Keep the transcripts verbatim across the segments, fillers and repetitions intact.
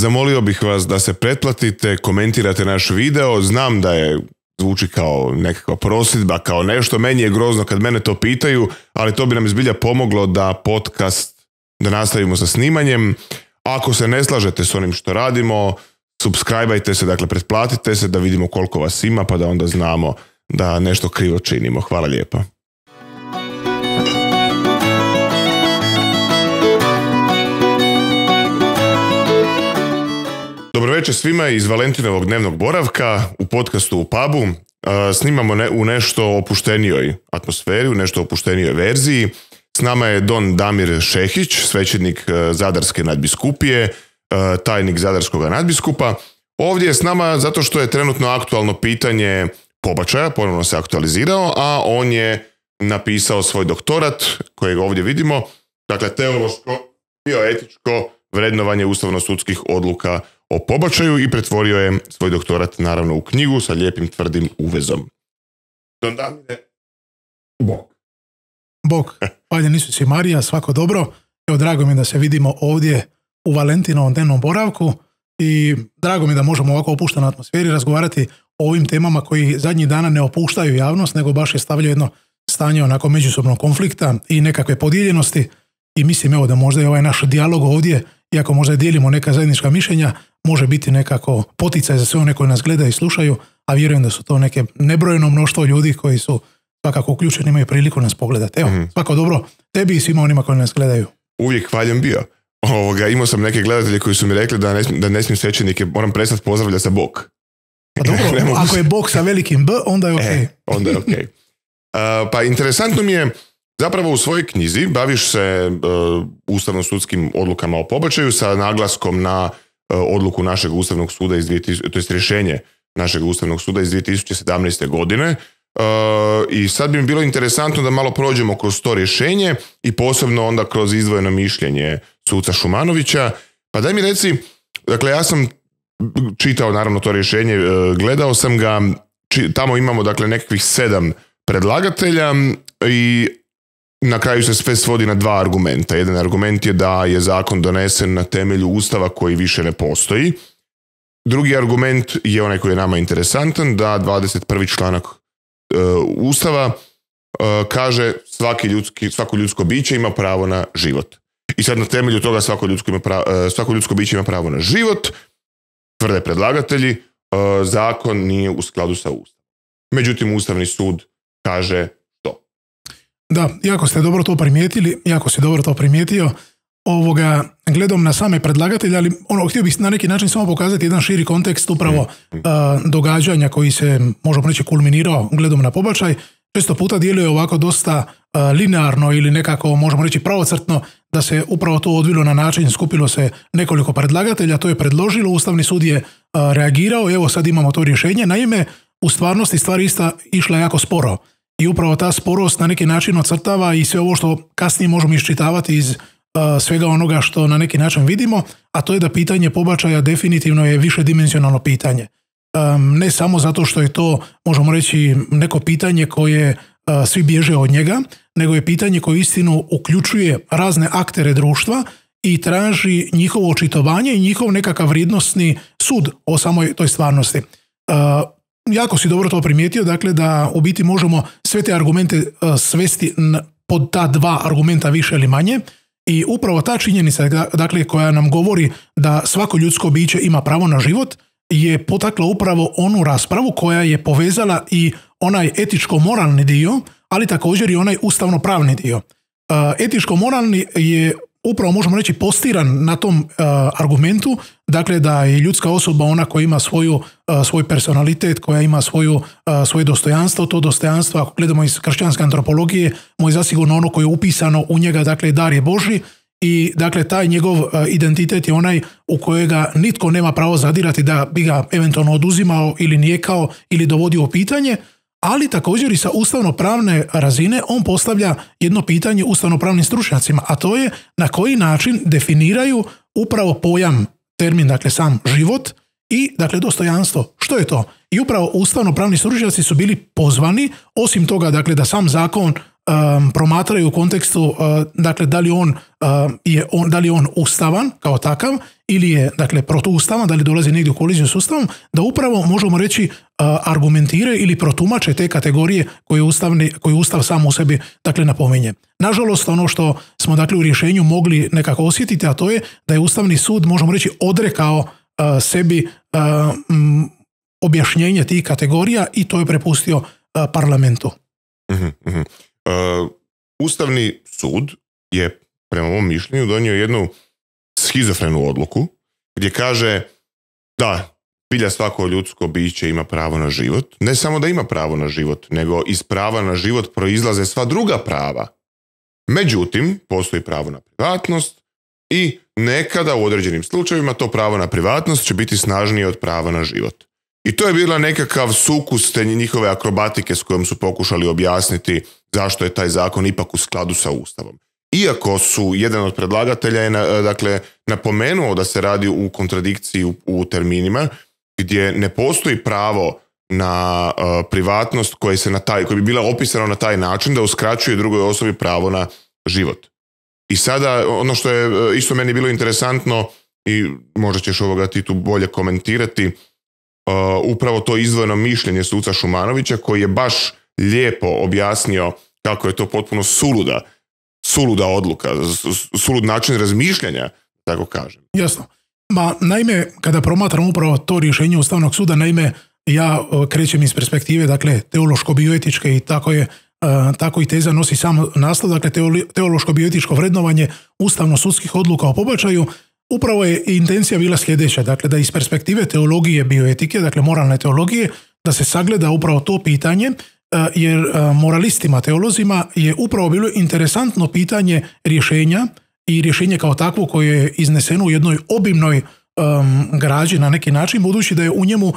zamolio bih vas da se pretplatite, komentirate naš video. Znam da je zvuči kao nekakva prosudba, kao nešto. Meni je grozno kad mene to pitaju, ali to bi nam zbilja pomoglo da podcast, da nastavimo sa snimanjem. Ako se ne slažete s onim što radimo, subscribeajte se, dakle pretplatite se da vidimo koliko vas ima, pa da onda znamo da nešto krivo činimo. Hvala lijepa. Dobro večer svima iz Valentinovog dnevnog boravka u podcastu u pubu. Snimamo ne, u nešto opuštenijoj atmosferi, u nešto opuštenijoj verziji. S nama je don Damir Šehić, svećenik Zadarske nadbiskupije, tajnik Zadarskog nadbiskupa. Ovdje je s nama zato što je trenutno aktualno pitanje pobačaja, ponovno se aktualizirao, a on je napisao svoj doktorat kojeg ovdje vidimo, dakle teološko bioetičko vrednovanje ustavno-sudskih odluka o pobačaju i pretvorio je svoj doktorat naravno u knjigu sa lijepim tvrdim uvezom. Don Damire, Bog. Bog, hvaljen Isus i Marija, svako dobro. Evo, drago mi je da se vidimo ovdje u Valentinovom dnevnom boravku i drago mi je da možemo ovako opuštenoj atmosferi razgovarati o ovim temama koji zadnjih dana ne opuštaju javnost, nego baš je stavljaju jedno stanje onako međusobnog konflikta i nekakve podijeljenosti i mislim evo da možda i ovaj naš dijalog ovdje, iako možda dijelimo neka zajednička mišljenja, može biti nekako poticaj za sve one koji nas gledaju i slušaju, a vjerujem da su to neke nebrojeno mnoštvo ljudi koji su svakako uključeni, imaju priliku nas pogledati. Evo, mm-hmm. svako dobro tebi i svima onima koji nas gledaju. Uvijek hvaljen bio. Ovoga, imao sam neke gledatelje koji su mi rekli da ne, da ne smijem svećenike, moram prestati pozdravljati sa Bog. Pa dobro, ako je Bog sa velikim B, onda je ok. E, onda je ok. Uh, pa interesantno mi je, zapravo u svojoj knjizi baviš se uh, ustavno-sudskim odlukama o pobačaju sa naglaskom na uh, odluku našeg Ustavnog suda iz dvije tisuće, to jest rješenje našeg Ustavnog suda iz dvije tisuće sedamnaeste. godine. Uh, I sad bi mi bilo interesantno da malo prođemo kroz to rješenje i posebno onda kroz izdvojeno mišljenje suca Šumanovića. Pa daj mi reci, dakle ja sam čitao naravno to rješenje, uh, gledao sam ga, či, tamo imamo dakle nekakvih sedam predlagatelja i na kraju se sve svodi na dva argumenta. Jedan argument je da je zakon donesen na temelju Ustava koji više ne postoji. Drugi argument je onaj koji je nama interesantan, da dvadeset prvi članak uh, Ustava uh, kaže svaki ljudski, svako ljudsko biće ima pravo na život. I sad na temelju toga svako ljudsko, ima pravo, uh, svako ljudsko biće ima pravo na život, tvrde predlagatelji, uh, zakon nije u skladu sa Ustavom. Međutim, Ustavni sud kaže da, jako ste dobro to primijetili, jako si dobro to primijetio. Ovoga, gledam na same predlagatelje, ali ono, htio bih na neki način samo pokazati jedan širi kontekst upravo mm. uh, događanja koji se, možemo reći, kulminirao gledom na pobačaj. Često puta djeluje ovako dosta uh, linearno ili nekako, možemo reći, pravocrtno, da se upravo to odvilo na način, skupilo se nekoliko predlagatelja, to je predložilo, Ustavni sud je uh, reagirao, evo sad imamo to rješenje. Naime, u stvarnosti stvari ista išla jako sporo. I upravo ta sporost na neki način ocrtava i sve ovo što kasnije možemo iščitavati iz uh, svega onoga što na neki način vidimo, a to je da pitanje pobačaja definitivno je višedimenzionalno pitanje. Um, ne samo zato što je to, možemo reći, neko pitanje koje uh, svi bježe od njega, nego je pitanje koje istinu uključuje razne aktere društva i traži njihovo očitovanje i njihov nekakav vrijednosni sud o samoj toj stvarnosti. Uh, Jako si dobro to primijetio, dakle da u biti možemo sve te argumente uh, svesti pod ta dva argumenta više ili manje i upravo ta činjenica, dakle, koja nam govori da svako ljudsko biće ima pravo na život je potakla upravo onu raspravu koja je povezala i onaj etičko-moralni dio, ali također i onaj ustavno-pravni dio. Uh, etičko-moralni je upravo, možemo reći, postiran na tom uh, argumentu, dakle da je ljudska osoba ona koja ima svoju, uh, svoj personalitet, koja ima svoju, uh, svoje dostojanstvo, to dostojanstvo, ako gledamo iz kršćanske antropologije, mu je zasigurno ono koje je upisano u njega, dakle dar je Božji i dakle taj njegov uh, identitet je onaj u kojega nitko nema pravo zadirati da bi ga eventualno oduzimao ili nijekao ili dovodio u pitanje, ali također i sa ustavno-pravne razine on postavlja jedno pitanje ustavno-pravnim stručnjacima, a to je na koji način definiraju upravo pojam, termin, dakle sam život i dakle dostojanstvo. Što je to? I upravo ustavno-pravni stručnjaci su bili pozvani, osim toga dakle da sam zakon um, promatraju u kontekstu uh, dakle da li on, uh, je on, da li je on ustavan kao takav ili je dakle protuustavan, da li dolazi negdje u koliziju s Ustavom, da upravo možemo reći argumentiraju ili protumače te kategorije koje, ustavni, koje Ustav sam u sebi dakle napominje. Nažalost, ono što smo dakle u rješenju mogli nekako osjetiti, a to je da je Ustavni sud, možemo reći, odrekao uh, sebi uh, m, objašnjenje tih kategorija i to je prepustio uh, parlamentu. Uh-huh, uh-huh. Uh, Ustavni sud je, prema mom mišljenju, donio jednu schizofrenu odluku gdje kaže da bilja svako ljudsko biće ima pravo na život. Ne samo da ima pravo na život, nego iz prava na život proizlaze sva druga prava. Međutim, postoji pravo na privatnost i nekada u određenim slučajevima to pravo na privatnost će biti snažnije od prava na život. I to je bila nekakav sukus te njihove akrobatike s kojom su pokušali objasniti zašto je taj zakon ipak u skladu sa Ustavom. Iako su jedan od predlagatelja je dakle, napomenuo da se radi u kontradikciji u, u terminima gdje ne postoji pravo na uh, privatnost koje se na taj, koje bi bila opisano na taj način da uskraćuje drugoj osobi pravo na život. I sada ono što je uh, isto meni bilo interesantno i možda ćeš ovoga ti tu bolje komentirati, uh, upravo to izdvojeno mišljenje suca Šumanovića koji je baš lijepo objasnio kako je to potpuno suluda, suluda odluka, sulud način razmišljanja, tako kažem. Jasno. Ma, naime, kada promatram upravo to rješenje Ustavnog suda, naime, ja krećem iz perspektive, dakle, teološko-bioetičke i tako je, uh, tako i teza nosi sam naslov, dakle, teološko-bioetičko vrednovanje ustavno-sudskih odluka o pobačaju. Upravo je intencija bila sljedeća, dakle, da iz perspektive teologije bioetike, dakle, moralne teologije, da se sagleda upravo to pitanje, uh, jer uh, moralistima, teolozima je upravo bilo interesantno pitanje rješenja i rješenje kao takvo koje je izneseno u jednoj obimnoj um, građi na neki način, budući da je u njemu uh,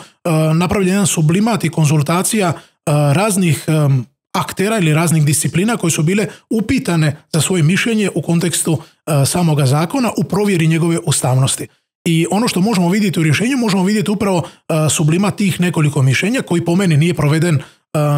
napravljen jedan sublimat i konzultacija uh, raznih um, aktera ili raznih disciplina koje su bile upitane za svoje mišljenje u kontekstu uh, samoga zakona u provjeri njegove ustavnosti. I ono što možemo vidjeti u rješenju, možemo vidjeti upravo uh, sublimat tih nekoliko mišljenja koji po meni nije proveden uh,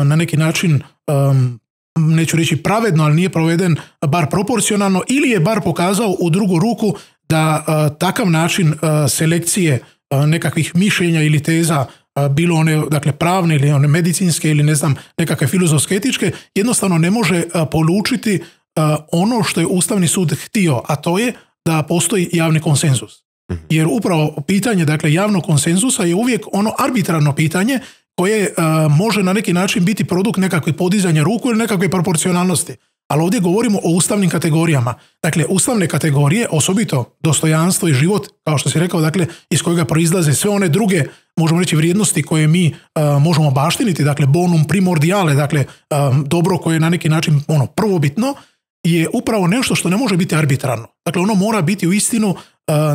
na neki način um, neću reći pravedno, ali nije proveden bar proporcionalno ili je bar pokazao u drugu ruku da a, takav način a, selekcije a, nekakvih mišljenja ili teza, a, bilo one dakle pravne ili one medicinske ili ne znam nekakve filozofske etičke, jednostavno ne može a, polučiti a, ono što je Ustavni sud htio, a to je da postoji javni konsenzus. Jer upravo pitanje dakle javnog konsenzusa je uvijek ono arbitrarno pitanje koje uh, može na neki način biti produkt nekakve podizanja ruku ili nekakve proporcionalnosti. Ali ovdje govorimo o ustavnim kategorijama. Dakle, ustavne kategorije, osobito dostojanstvo i život, kao što si rekao, dakle, iz kojega proizlaze sve one druge, možemo reći, vrijednosti koje mi uh, možemo baštiniti, dakle, bonum primordiale, dakle, um, dobro koje je na neki način ono, prvobitno, je upravo nešto što ne može biti arbitrarno. Dakle, ono mora biti u istinu uh,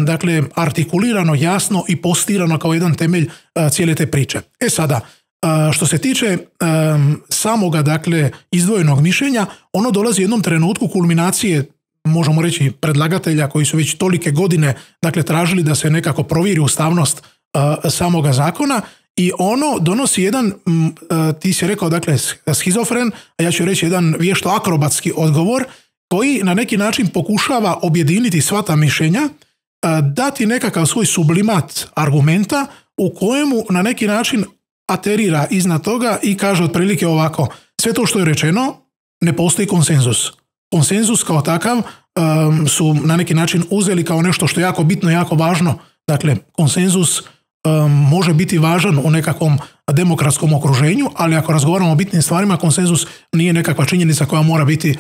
dakle, artikulirano, jasno i postirano kao jedan temelj uh, cijele te priče. E sada, uh, što se tiče um, samoga, dakle, izdvojenog mišljenja, ono dolazi u jednom trenutku kulminacije, možemo reći, predlagatelja koji su već tolike godine, dakle, tražili da se nekako provjeri ustavnost uh, samoga zakona i ono donosi jedan, m, uh, ti si rekao, dakle, schizofren, a ja ću reći jedan vješto akrobatski odgovor koji na neki način pokušava objediniti sva ta mišljenja, dati nekakav svoj sublimat argumenta u kojemu na neki način aterira iznad toga i kaže otprilike ovako, sve to što je rečeno ne postoji konsenzus. Konsenzus kao takav um, su na neki način uzeli kao nešto što je jako bitno, jako važno. Dakle, konsenzus um, može biti važan u nekakvom demokratskom okruženju, ali ako razgovaramo o bitnim stvarima, konsenzus nije nekakva činjenica koja mora biti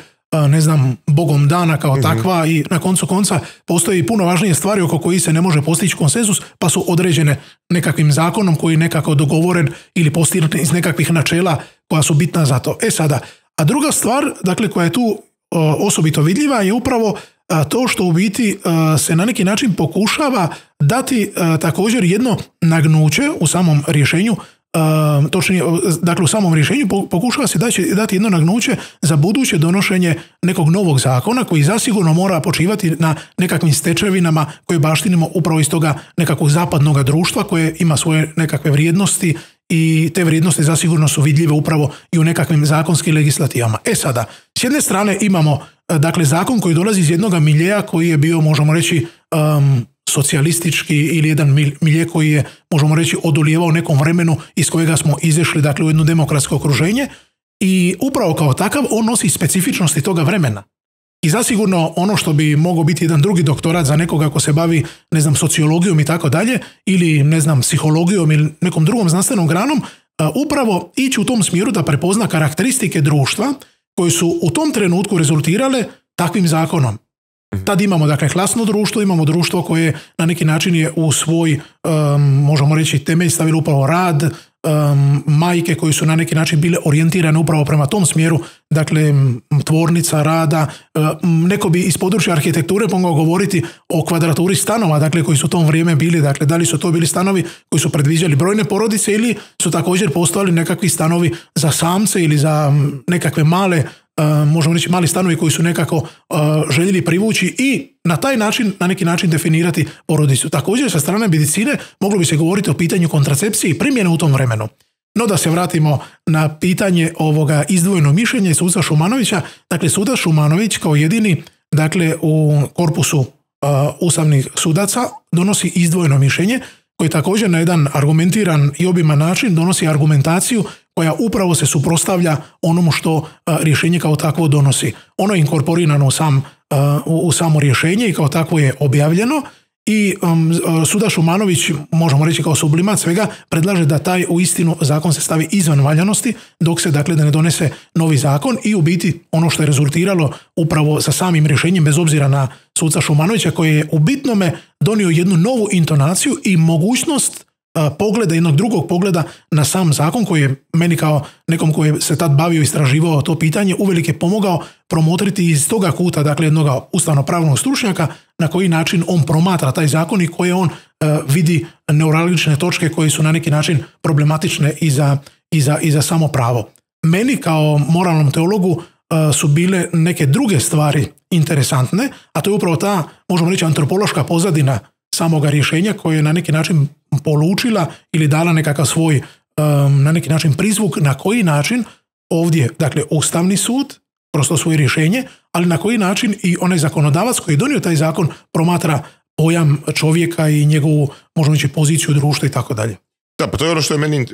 ne znam, bogom dana kao takva mm-hmm. i na koncu konca postoji puno važnije stvari oko kojih se ne može postići konsenzus, pa su određene nekakvim zakonom koji je nekako dogovoren ili postignut iz nekakvih načela koja su bitna za to. E sada, a druga stvar, dakle, koja je tu o, osobito vidljiva je upravo a, to što u biti a, se na neki način pokušava dati a, također jedno nagnuće u samom rješenju. Uh, točnije, dakle u samom rješenju pokušava se dati, dati jedno nagnuće za buduće donošenje nekog novog zakona koji zasigurno mora počivati na nekakvim stečevinama koje baštinimo upravo iz toga nekakvog zapadnog društva koje ima svoje nekakve vrijednosti i te vrijednosti zasigurno su vidljive upravo i u nekakvim zakonskim legislativama. E sada, s jedne strane imamo dakle zakon koji dolazi iz jednog miljeja koji je bio, možemo reći, um, socijalistički ili jedan milje koji je, možemo reći, odolijevao nekom vremenu iz kojega smo izašli, dakle, u jedno demokratsko okruženje i upravo kao takav on nosi specifičnosti toga vremena. I zasigurno ono što bi mogao biti jedan drugi doktorat za nekoga ko se bavi, ne znam, sociologijom i tako dalje, ili, ne znam, psihologijom ili nekom drugom znanstvenom granom, upravo ići u tom smjeru da prepozna karakteristike društva koje su u tom trenutku rezultirale takvim zakonom. Tad imamo, dakle, klasno društvo, imamo društvo koje na neki način je u svoj, um, možemo reći, temelj stavilo upravo rad, um, majke koje su na neki način bile orijentirane upravo prema tom smjeru, dakle, tvornica rada. Um, neko bi iz područja arhitekture mogao govoriti o kvadraturi stanova, dakle, koji su u tom vrijeme bili, dakle, da li su to bili stanovi koji su predviđali brojne porodice ili su također postojali nekakvi stanovi za samce ili za nekakve male, Uh, možemo reći, mali stanovi koji su nekako uh, željeli privući i na taj način, na neki način definirati porodicu. Također, sa strane medicine moglo bi se govoriti o pitanju kontracepcije i primjene u tom vremenu. No da se vratimo na pitanje ovoga izdvojenog mišljenja i suca Šumanovića. Dakle, sudac Šumanović kao jedini, dakle, u korpusu uh, ustavnih sudaca donosi izdvojeno mišljenje koji također na jedan argumentiran i obiman način donosi argumentaciju koja upravo se suprotstavlja onomu što uh, rješenje kao takvo donosi. Ono je inkorporirano u, sam, uh, u, u samo rješenje i kao takvo je objavljeno i um, sudac Šumanović, možemo reći kao sublimat svega, predlaže da taj uistinu zakon se stavi izvan valjanosti dok se, dakle, da ne donese novi zakon i u biti ono što je rezultiralo upravo sa samim rješenjem, bez obzira na suca Šumanovića koji je u bitnome donio jednu novu intonaciju i mogućnost pogleda, jednog drugog pogleda na sam zakon koji je meni kao nekom koji se tad bavio i istraživao to pitanje uvelike pomogao promotriti iz toga kuta, dakle, jednog ustavno-pravnog stručnjaka na koji način on promatra taj zakon i koje on uh, vidi neuralgične točke koje su na neki način problematične i za, i za, i za samo pravo. Meni kao moralnom teologu uh, su bile neke druge stvari interesantne, a to je upravo ta, možemo reći, antropološka pozadina samoga rješenja koje je na neki način polučila ili dala nekakav svoj um, na neki način prizvuk na koji način ovdje, dakle, Ustavni sud kroz to svoje rješenje, ali na koji način i onaj zakonodavac koji je donio taj zakon promatra pojam čovjeka i njegovu, možemo reći, poziciju društva i tako dalje. Da, pa to je ono što je meni e,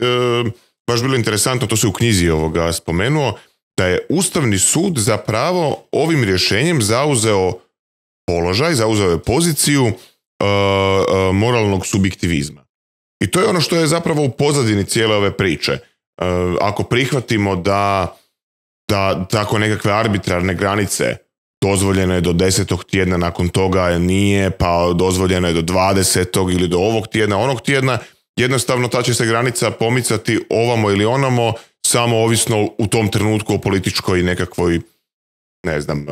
baš bilo interesantno, to se u knjizi ovoga spomenuo, da je Ustavni sud zapravo ovim rješenjem zauzeo položaj, zauzeo je poziciju uh, uh, moralnog subjektivizma. I to je ono što je zapravo u pozadini cijele ove priče. Uh, ako prihvatimo da, da tako nekakve arbitrarne granice dozvoljeno je do desetog tjedna, nakon toga nije, pa dozvoljeno je do dvadesetog ili do ovog tjedna, onog tjedna, jednostavno ta će se granica pomicati ovamo ili onamo, samo ovisno u tom trenutku o političkoj nekakvoj, ne znam,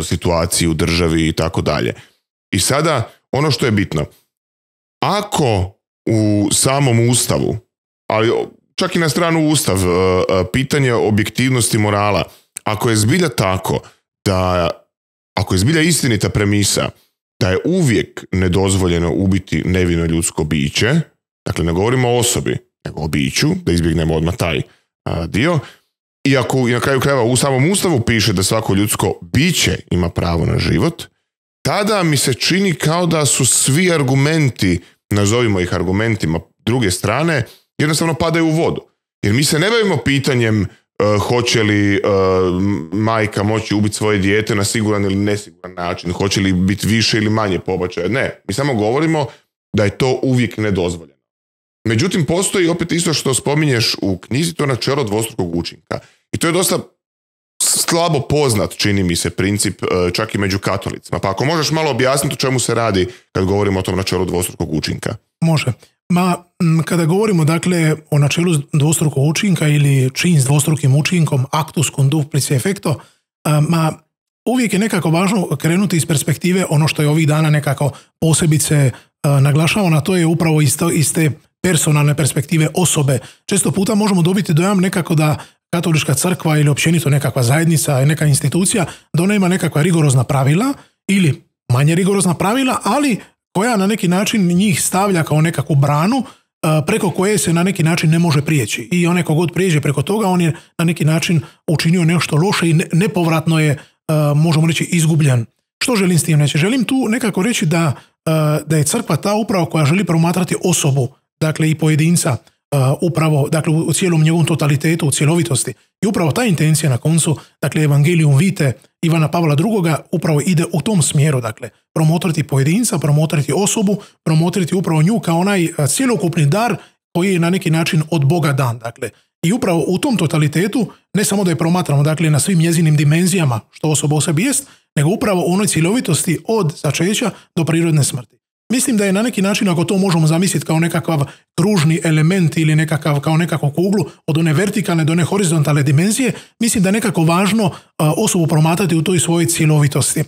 situaciji u državi i tako dalje. I sada, ono što je bitno, ako u samom Ustavu, ali čak i na stranu Ustav, pitanje objektivnosti morala, ako je zbilja tako da, ako je zbilja istinita premisa da je uvijek nedozvoljeno ubiti nevino ljudsko biće, dakle ne govorimo o osobi, nego o biću, da izbjegnemo odmah taj a, dio, i ako na kraju krajeva u samom Ustavu piše da svako ljudsko biće ima pravo na život, tada mi se čini kao da su svi argumenti, nazovimo ih argumentima druge strane, jednostavno padaju u vodu. Jer mi se ne bavimo pitanjem uh, hoće li uh, majka moći ubiti svoje dijete na siguran ili nesiguran način, hoće li biti više ili manje pobačaja. Ne, mi samo govorimo da je to uvijek nedozvoljeno. Međutim, postoji opet isto što spominješ u knjizi, to načelo dvostrukog učinka. I to je dosta slabo poznat, čini mi se, princip čak i među katolicima. Pa ako možeš malo objasniti o čemu se radi kad govorimo o tom načelu dvostrukog učinka. Može. Ma, kada govorimo, dakle, o načelu dvostrukog učinka ili čin s dvostrukim učinkom, actus cum duplice effecto, ma, uvijek je nekako važno krenuti iz perspektive ono što je ovih dana nekako posebice naglašavano, a to je upravo isto, iz te personalne perspektive osobe. Često puta možemo dobiti dojam nekako da katolička crkva ili općenito nekakva zajednica, neka institucija, da ona ima nekakva rigorozna pravila ili manje rigorozna pravila, ali koja na neki način njih stavlja kao nekakvu branu preko koje se na neki način ne može prijeći. I onaj kogod prijeđe preko toga, on je na neki način učinio nešto loše i nepovratno je, možemo reći, izgubljen. Što želim s tim reći? Želim tu nekako reći da da je crkva ta upravo koja želi promatrati osobu, dakle i pojedinca, upravo, dakle u cijelom njegovom totalitetu, u cjelovitosti. I upravo ta intencija na koncu, dakle Evangelium Vitae Ivana Pavla drugoga upravo ide u tom smjeru, dakle promotriti pojedinca, promotriti osobu, promotriti upravo nju kao onaj cjelokupni dar koji je na neki način od Boga dan, dakle. I upravo u tom totalitetu ne samo da je promatramo, dakle na svim njezinim dimenzijama što osoba u sebi jest, nego upravo u onoj cjelovitosti od začeća do prirodne smrti. Mislim da je na neki način, ako to možemo zamisliti kao nekakav kružni element ili nekakav, kao nekakvu kuglu od one vertikalne do one horizontalne dimenzije, mislim da je nekako važno a, osobu promatrati u toj svojoj cjelovitosti.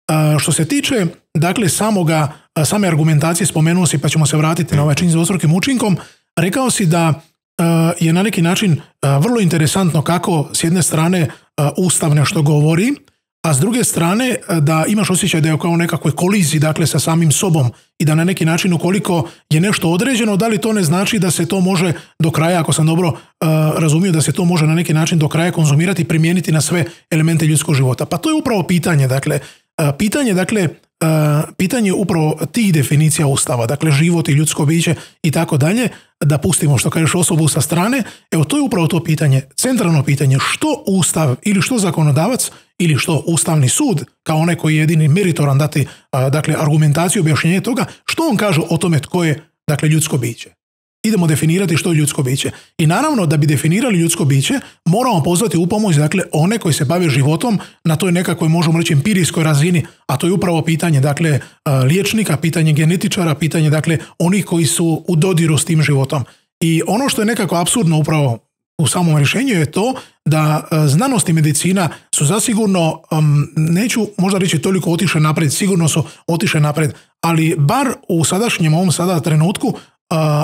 A, što se tiče, dakle, samoga, a, same argumentacije, spomenuo si, pa ćemo se vratiti na ovaj čin s dvostrukim učinkom, rekao si da a, je na neki način a, vrlo interesantno kako s jedne strane a, Ustav nešto govori, a s druge strane da imaš osjećaj da je kao nekakvoj koliziji, dakle sa samim sobom i da na neki način ukoliko je nešto određeno, da li to ne znači da se to može do kraja, ako sam dobro uh, razumio, da se to može na neki način do kraja konzumirati i primijeniti na sve elemente ljudskog života. Pa to je upravo pitanje, dakle, uh, pitanje, dakle, uh, pitanje upravo tih definicija Ustava, dakle život i ljudsko biće i tako dalje, da pustimo što kažeš osobu sa strane, evo to je upravo to pitanje, centralno pitanje, što Ustav ili što zakonodavac ili što Ustavni sud, kao onaj koji je jedini meritoran dati a, dakle, argumentaciju, objašnjenje toga, što on kaže o tome tko je, dakle, ljudsko biće. Idemo definirati što je ljudsko biće. I naravno da bi definirali ljudsko biće, moramo pozvati u pomoć, dakle, one koji se bave životom na toj nekakvoj, možemo reći, empirijskoj razini, a to je upravo pitanje, dakle, liječnika, pitanje genetičara, pitanje, dakle, onih koji su u dodiru s tim životom. I ono što je nekako apsurdno upravo u samom rješenju je to da znanost i medicina su zasigurno, um, neću možda reći toliko otišle napred, sigurno su otišle napred, ali bar u sadašnjem ovom sada trenutku uh,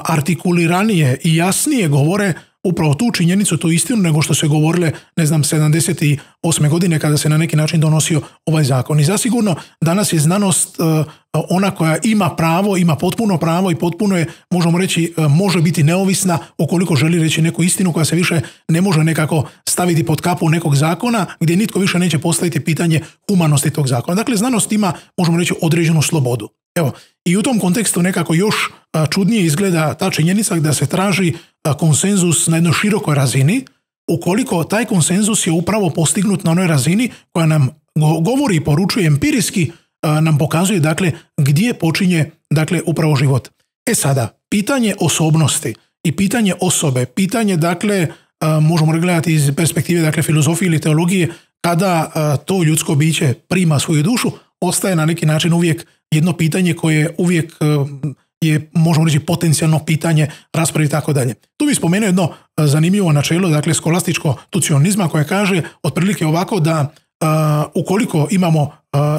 artikuliranije i jasnije govore upravo tu činjenicu, tu istinu, nego što se govorile, ne znam, sedamdeset osme godine kada se na neki način donosio ovaj zakon. I zasigurno danas je znanost uh, ona koja ima pravo, ima potpuno pravo i potpuno je, možemo reći, uh, može biti neovisna ukoliko želi reći neku istinu koja se više ne može nekako staviti pod kapu nekog zakona gdje nitko više neće postaviti pitanje humanosti tog zakona. Dakle, znanost ima, možemo reći, određenu slobodu. Evo, i u tom kontekstu nekako još uh, čudnije izgleda ta činjenica da se traži uh, konsenzus na jednoj širokoj razini, ukoliko taj konsenzus je upravo postignut na onoj razini koja nam govori i poručuje empirijski, nam pokazuje, dakle, gdje počinje, dakle, upravo život. E sada, pitanje osobnosti i pitanje osobe, pitanje, dakle, možemo gledati iz perspektive, dakle, filozofije ili teologije, kada to ljudsko biće prima svoju dušu, ostaje na neki način uvijek jedno pitanje koje uvijek je, možemo reći, potencijalno pitanje rasprave i tako dalje. Tu bih spomenuo jedno zanimljivo načelo, dakle, skolastičko tucionizma, koje kaže otprilike ovako da Uh, ukoliko imamo uh,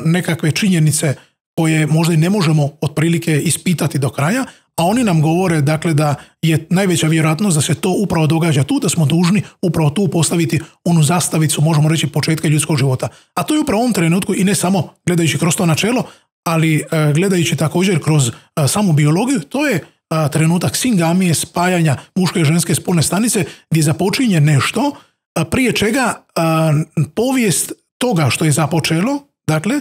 nekakve činjenice koje možda i ne možemo otprilike ispitati do kraja, a oni nam govore, dakle, da je najveća vjerojatnost da se to upravo događa tu, da smo dužni upravo tu postaviti onu zastavicu, možemo reći, početka ljudskog života. A to je upravo u ovom trenutku i ne samo gledajući kroz to načelo, ali uh, gledajući također kroz uh, samu biologiju, to je uh, trenutak singamije, spajanja muške i ženske spolne stanice gdje započinje nešto uh, prije čega uh, povijest toga što je započelo, dakle,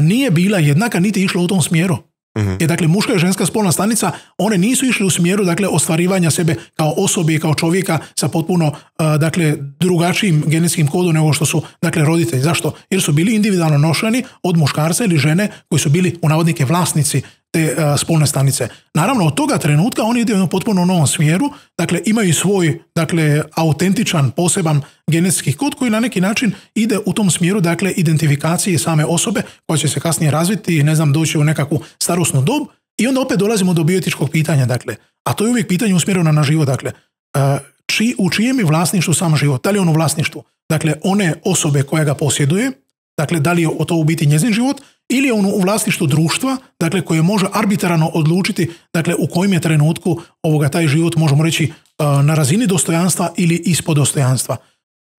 nije bila jednaka niti išla u tom smjeru. Uh-huh. Jer, dakle, muška i ženska spolna stanica, one nisu išle u smjeru, dakle, ostvarivanja sebe kao osobe i kao čovjeka sa potpuno, dakle, drugačijim genetskim kodom nego što su, dakle, roditelji. Zašto? Jer su bili individualno nošeni od muškarca ili žene koji su bili, u navodnike, vlasnici te uh, spolne stanice. Naravno, od toga trenutka oni idu u potpuno novom smjeru, dakle, imaju svoj, dakle, autentičan, poseban genetski kod koji na neki način ide u tom smjeru, dakle, identifikacije same osobe koja će se kasnije razviti i, ne znam, doći u nekakvu starosnu dob i onda opet dolazimo do bioetičkog pitanja, dakle, a to je uvijek pitanje usmjereno na život, dakle, uh, či, u čijem je vlasništvu sam život, da li je on u vlasništvu, dakle, one osobe koja ga posjeduje, dakle, da li je to u biti njezin život, ili je on u vlasništvu društva, dakle, koje može arbitrarno odlučiti, dakle, u kojem je trenutku ovoga taj život, možemo reći, na razini dostojanstva ili ispod dostojanstva.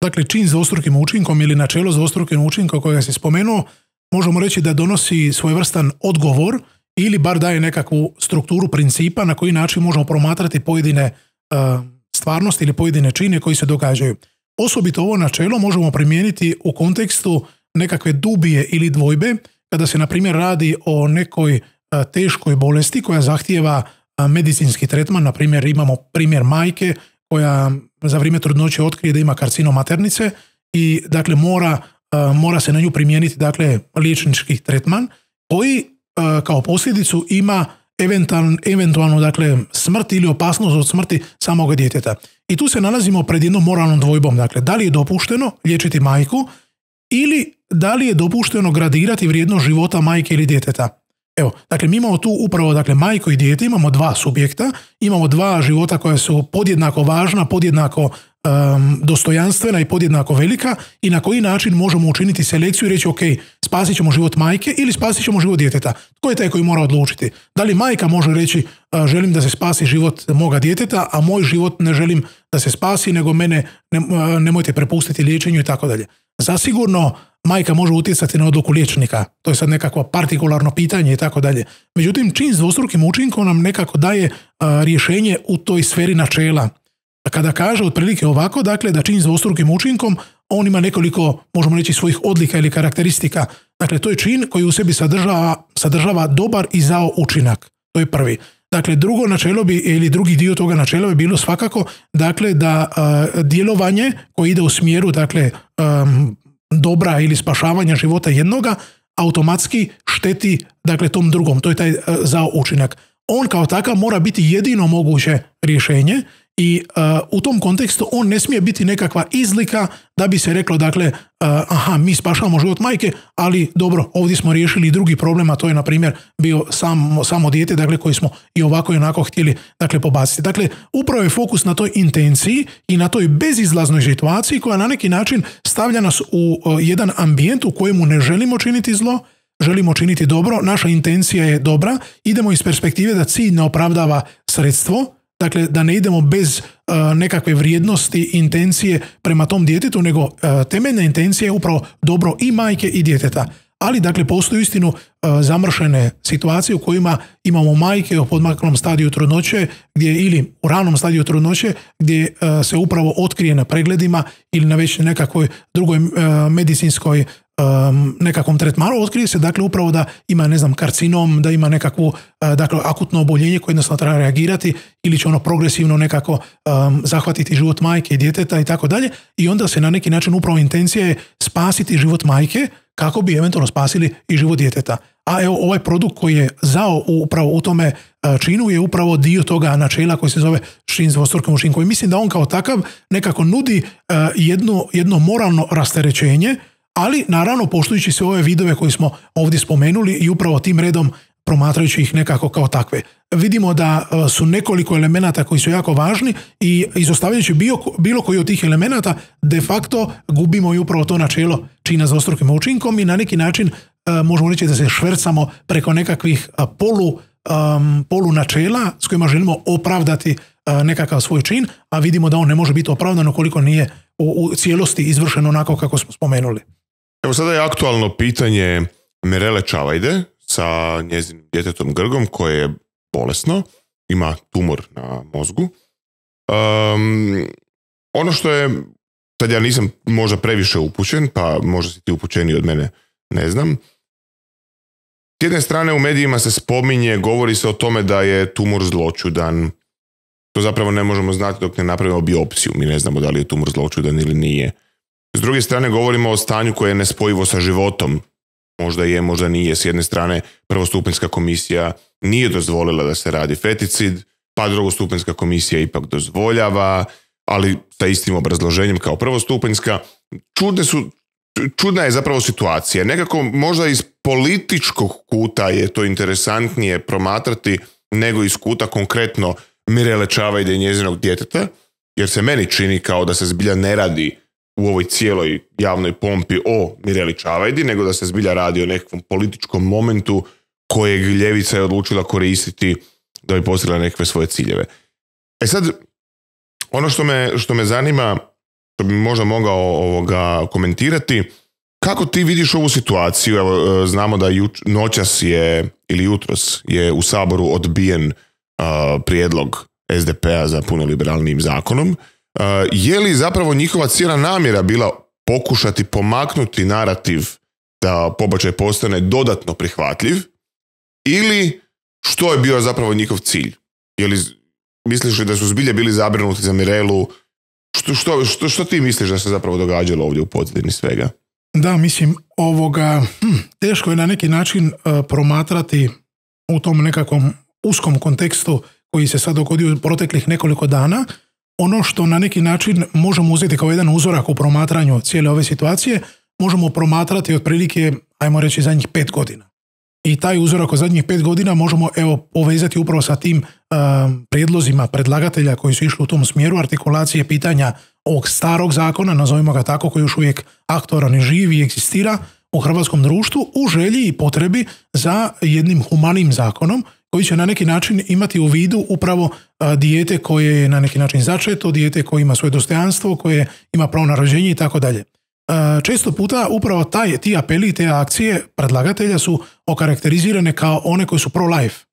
Dakle, čin s dvostrukim učinkom ili načelo s dvostrukim učinkom kojega si spomenuo, možemo reći da donosi svojevrstan odgovor ili bar daje nekakvu strukturu principa na koji način možemo promatrati pojedine uh, stvarnosti ili pojedine čine koji se događaju. Osobito ovo načelo možemo primijeniti u kontekstu nekakve dubije ili dvojbe, kada se, na primjer, radi o nekoj teškoj bolesti koja zahtijeva medicinski tretman. Na primjer, imamo primjer majke koja za vrijeme trudnoće otkrije da ima karcinom maternice i dakle mora, mora se na nju primijeniti dakle liječnički tretman koji kao posljedicu ima eventualno, eventualno dakle smrt ili opasnost od smrti samoga djeteta. I tu se nalazimo pred jednom moralnom dvojbom. Dakle, da li je dopušteno liječiti majku ili da li je dopušteno gradirati vrijednost života majke ili djeteta. Evo, dakle, mi imamo tu upravo dakle, majku i dijete, imamo dva subjekta, imamo dva života koja su podjednako važna, podjednako um, dostojanstvena i podjednako velika i na koji način možemo učiniti selekciju i reći ok, spasit ćemo život majke ili spasit ćemo život djeteta. Tko je taj koji mora odlučiti? Da li majka može reći uh, želim da se spasi život moga djeteta, a moj život ne želim da se spasi, nego mene ne, uh, nemojte prepustiti liječenju i tako dalje. Zasigurno majka može utjecati na odluku liječnika. To je sad nekakvo partikularno pitanje i tako dalje. Međutim, čin s dvostrukim učinkom nam nekako daje a, rješenje u toj sferi načela. Kada kaže otprilike ovako, dakle, da čin s dvostrukim učinkom, on ima nekoliko, možemo reći, svojih odlika ili karakteristika. Dakle, to je čin koji u sebi sadržava, sadržava dobar i zao učinak. To je prvi. Dakle, drugo načelo bi, ili drugi dio toga načela bi bilo svakako, dakle, da a, djelovanje koje ide u smjeru, dakle, um, dobra ili spašavanja života jednoga, automatski šteti dakle tom drugom. To je taj uh, zao učinak. On kao takav mora biti jedino moguće rješenje i uh, u tom kontekstu on ne smije biti nekakva izlika da bi se reklo dakle uh, aha, mi spašavamo život majke, ali dobro, ovdje smo riješili drugi problem, a to je na primjer bio samo, samo dijete, dakle koji smo i ovako i onako htjeli dakle pobaciti. Dakle, upravo je fokus na toj intenciji i na toj bezizlaznoj situaciji koja na neki način stavlja nas u uh, jedan ambijent u kojemu ne želimo činiti zlo, želimo činiti dobro, naša intencija je dobra, idemo iz perspektive da cilj ne opravdava sredstvo, dakle da ne idemo bez uh, nekakve vrijednosti, intencije prema tom djetetu, nego uh, temeljna intencija je upravo dobro i majke i djeteta. Ali dakle postoji uistinu uh, zamršene situacije u kojima imamo majke u podmaklom stadiju trudnoće gdje, ili u ranom stadiju trudnoće gdje uh, se upravo otkrije na pregledima ili na već nekakvoj drugoj uh, medicinskoj Um, nekakvom tretmanu, otkrije se dakle upravo da ima ne znam karcinom, da ima nekakvu uh, dakle akutno oboljenje koje jednostavno treba reagirati ili će ono progresivno nekako um, zahvatiti život majke i djeteta i tako dalje i onda se na neki način upravo intencija je spasiti život majke kako bi eventualno spasili i život djeteta. A evo ovaj produkt koji je zao upravo u tome uh, činu je upravo dio toga načela koji se zove čin s dvostrukim učinkom i mislim da on kao takav nekako nudi uh, jedno, jedno moralno rasterećenje, ali naravno poštujući sve ove vidove koje smo ovdje spomenuli i upravo tim redom promatrajući ih nekako kao takve. Vidimo da su nekoliko elemenata koji su jako važni i izostavljajući bilo, bilo koji od tih elemenata de facto gubimo i upravo to načelo čina s dvostrukim učinkom i na neki način možemo reći da se švercamo preko nekakvih polu, um, polu načela s kojima želimo opravdati nekakav svoj čin, a vidimo da on ne može biti opravdan ukoliko nije u, u cijelosti izvršeno onako kako smo spomenuli. Evo sada je aktualno pitanje Mirele Čavajde sa njezinim djetetom Grgom koje je bolesno, ima tumor na mozgu. Um, ono što je, sad ja nisam možda previše upućen, pa možda si ti upućeniji od mene, ne znam. S jedne strane u medijima se spominje, govori se o tome da je tumor zloćudan. To zapravo ne možemo znati dok ne napravimo biopsiju. Mi ne znamo da li je tumor zloćudan ili nije. S druge strane govorimo o stanju koje je nespojivo sa životom. Možda je, možda nije. S jedne strane prvostupanjska komisija nije dozvolila da se radi feticid, pa drugostupanjska komisija ipak dozvoljava, ali sa istim obrazloženjem kao prvostupanjska. Čudne su, čudna je zapravo situacija. Nekako možda iz političkog kuta je to interesantnije promatrati nego iz kuta konkretno Mirele Čavajde i njezinog djeteta, jer se meni čini kao da se zbilja ne radi u ovoj cijeloj javnoj pompi o Mireli Čavajdi, nego da se zbilja radi o nekakvom političkom momentu kojeg ljevica je odlučila koristiti da bi postigla nekakve svoje ciljeve. E sad, ono što me, što me zanima, što bi možda mogao ovoga komentirati, kako ti vidiš ovu situaciju? Evo, znamo da juč, noćas je, ili jutros je u Saboru odbijen uh, prijedlog es de pe a za puno liberalnijim zakonom. Uh, je li zapravo njihova cijela namjera bila pokušati pomaknuti narativ da pobačaj postane dodatno prihvatljiv ili što je bio zapravo njihov cilj? Je li, misliš li da su zbilje bili zabrinuti za Mirelu? Što, što, što, što ti misliš da se zapravo događalo ovdje u pozadini svega? Da, mislim, ovoga, hm, teško je na neki način uh, promatrati u tom nekakvom uskom kontekstu koji se sad dogodio u proteklih nekoliko dana. Ono što na neki način možemo uzeti kao jedan uzorak u promatranju cijele ove situacije, možemo promatrati otprilike, ajmo reći, zadnjih pet godina. I taj uzorak od zadnjih pet godina možemo evo povezati upravo sa tim uh, prijedlozima predlagatelja koji su išli u tom smjeru artikulacije pitanja ovog starog zakona, nazovimo ga tako, koji još uvijek aktualan i živ i egzistira u hrvatskom društvu u želji i potrebi za jednim humanim zakonom koji će na neki način imati u vidu upravo a, dijete koje je na neki način začeto, dijete koje ima svoje dostojanstvo, koje ima pravo na rođenje i tako dalje. Često puta upravo taj, ti apeli i te akcije predlagatelja su okarakterizirane kao one koji su pro-life.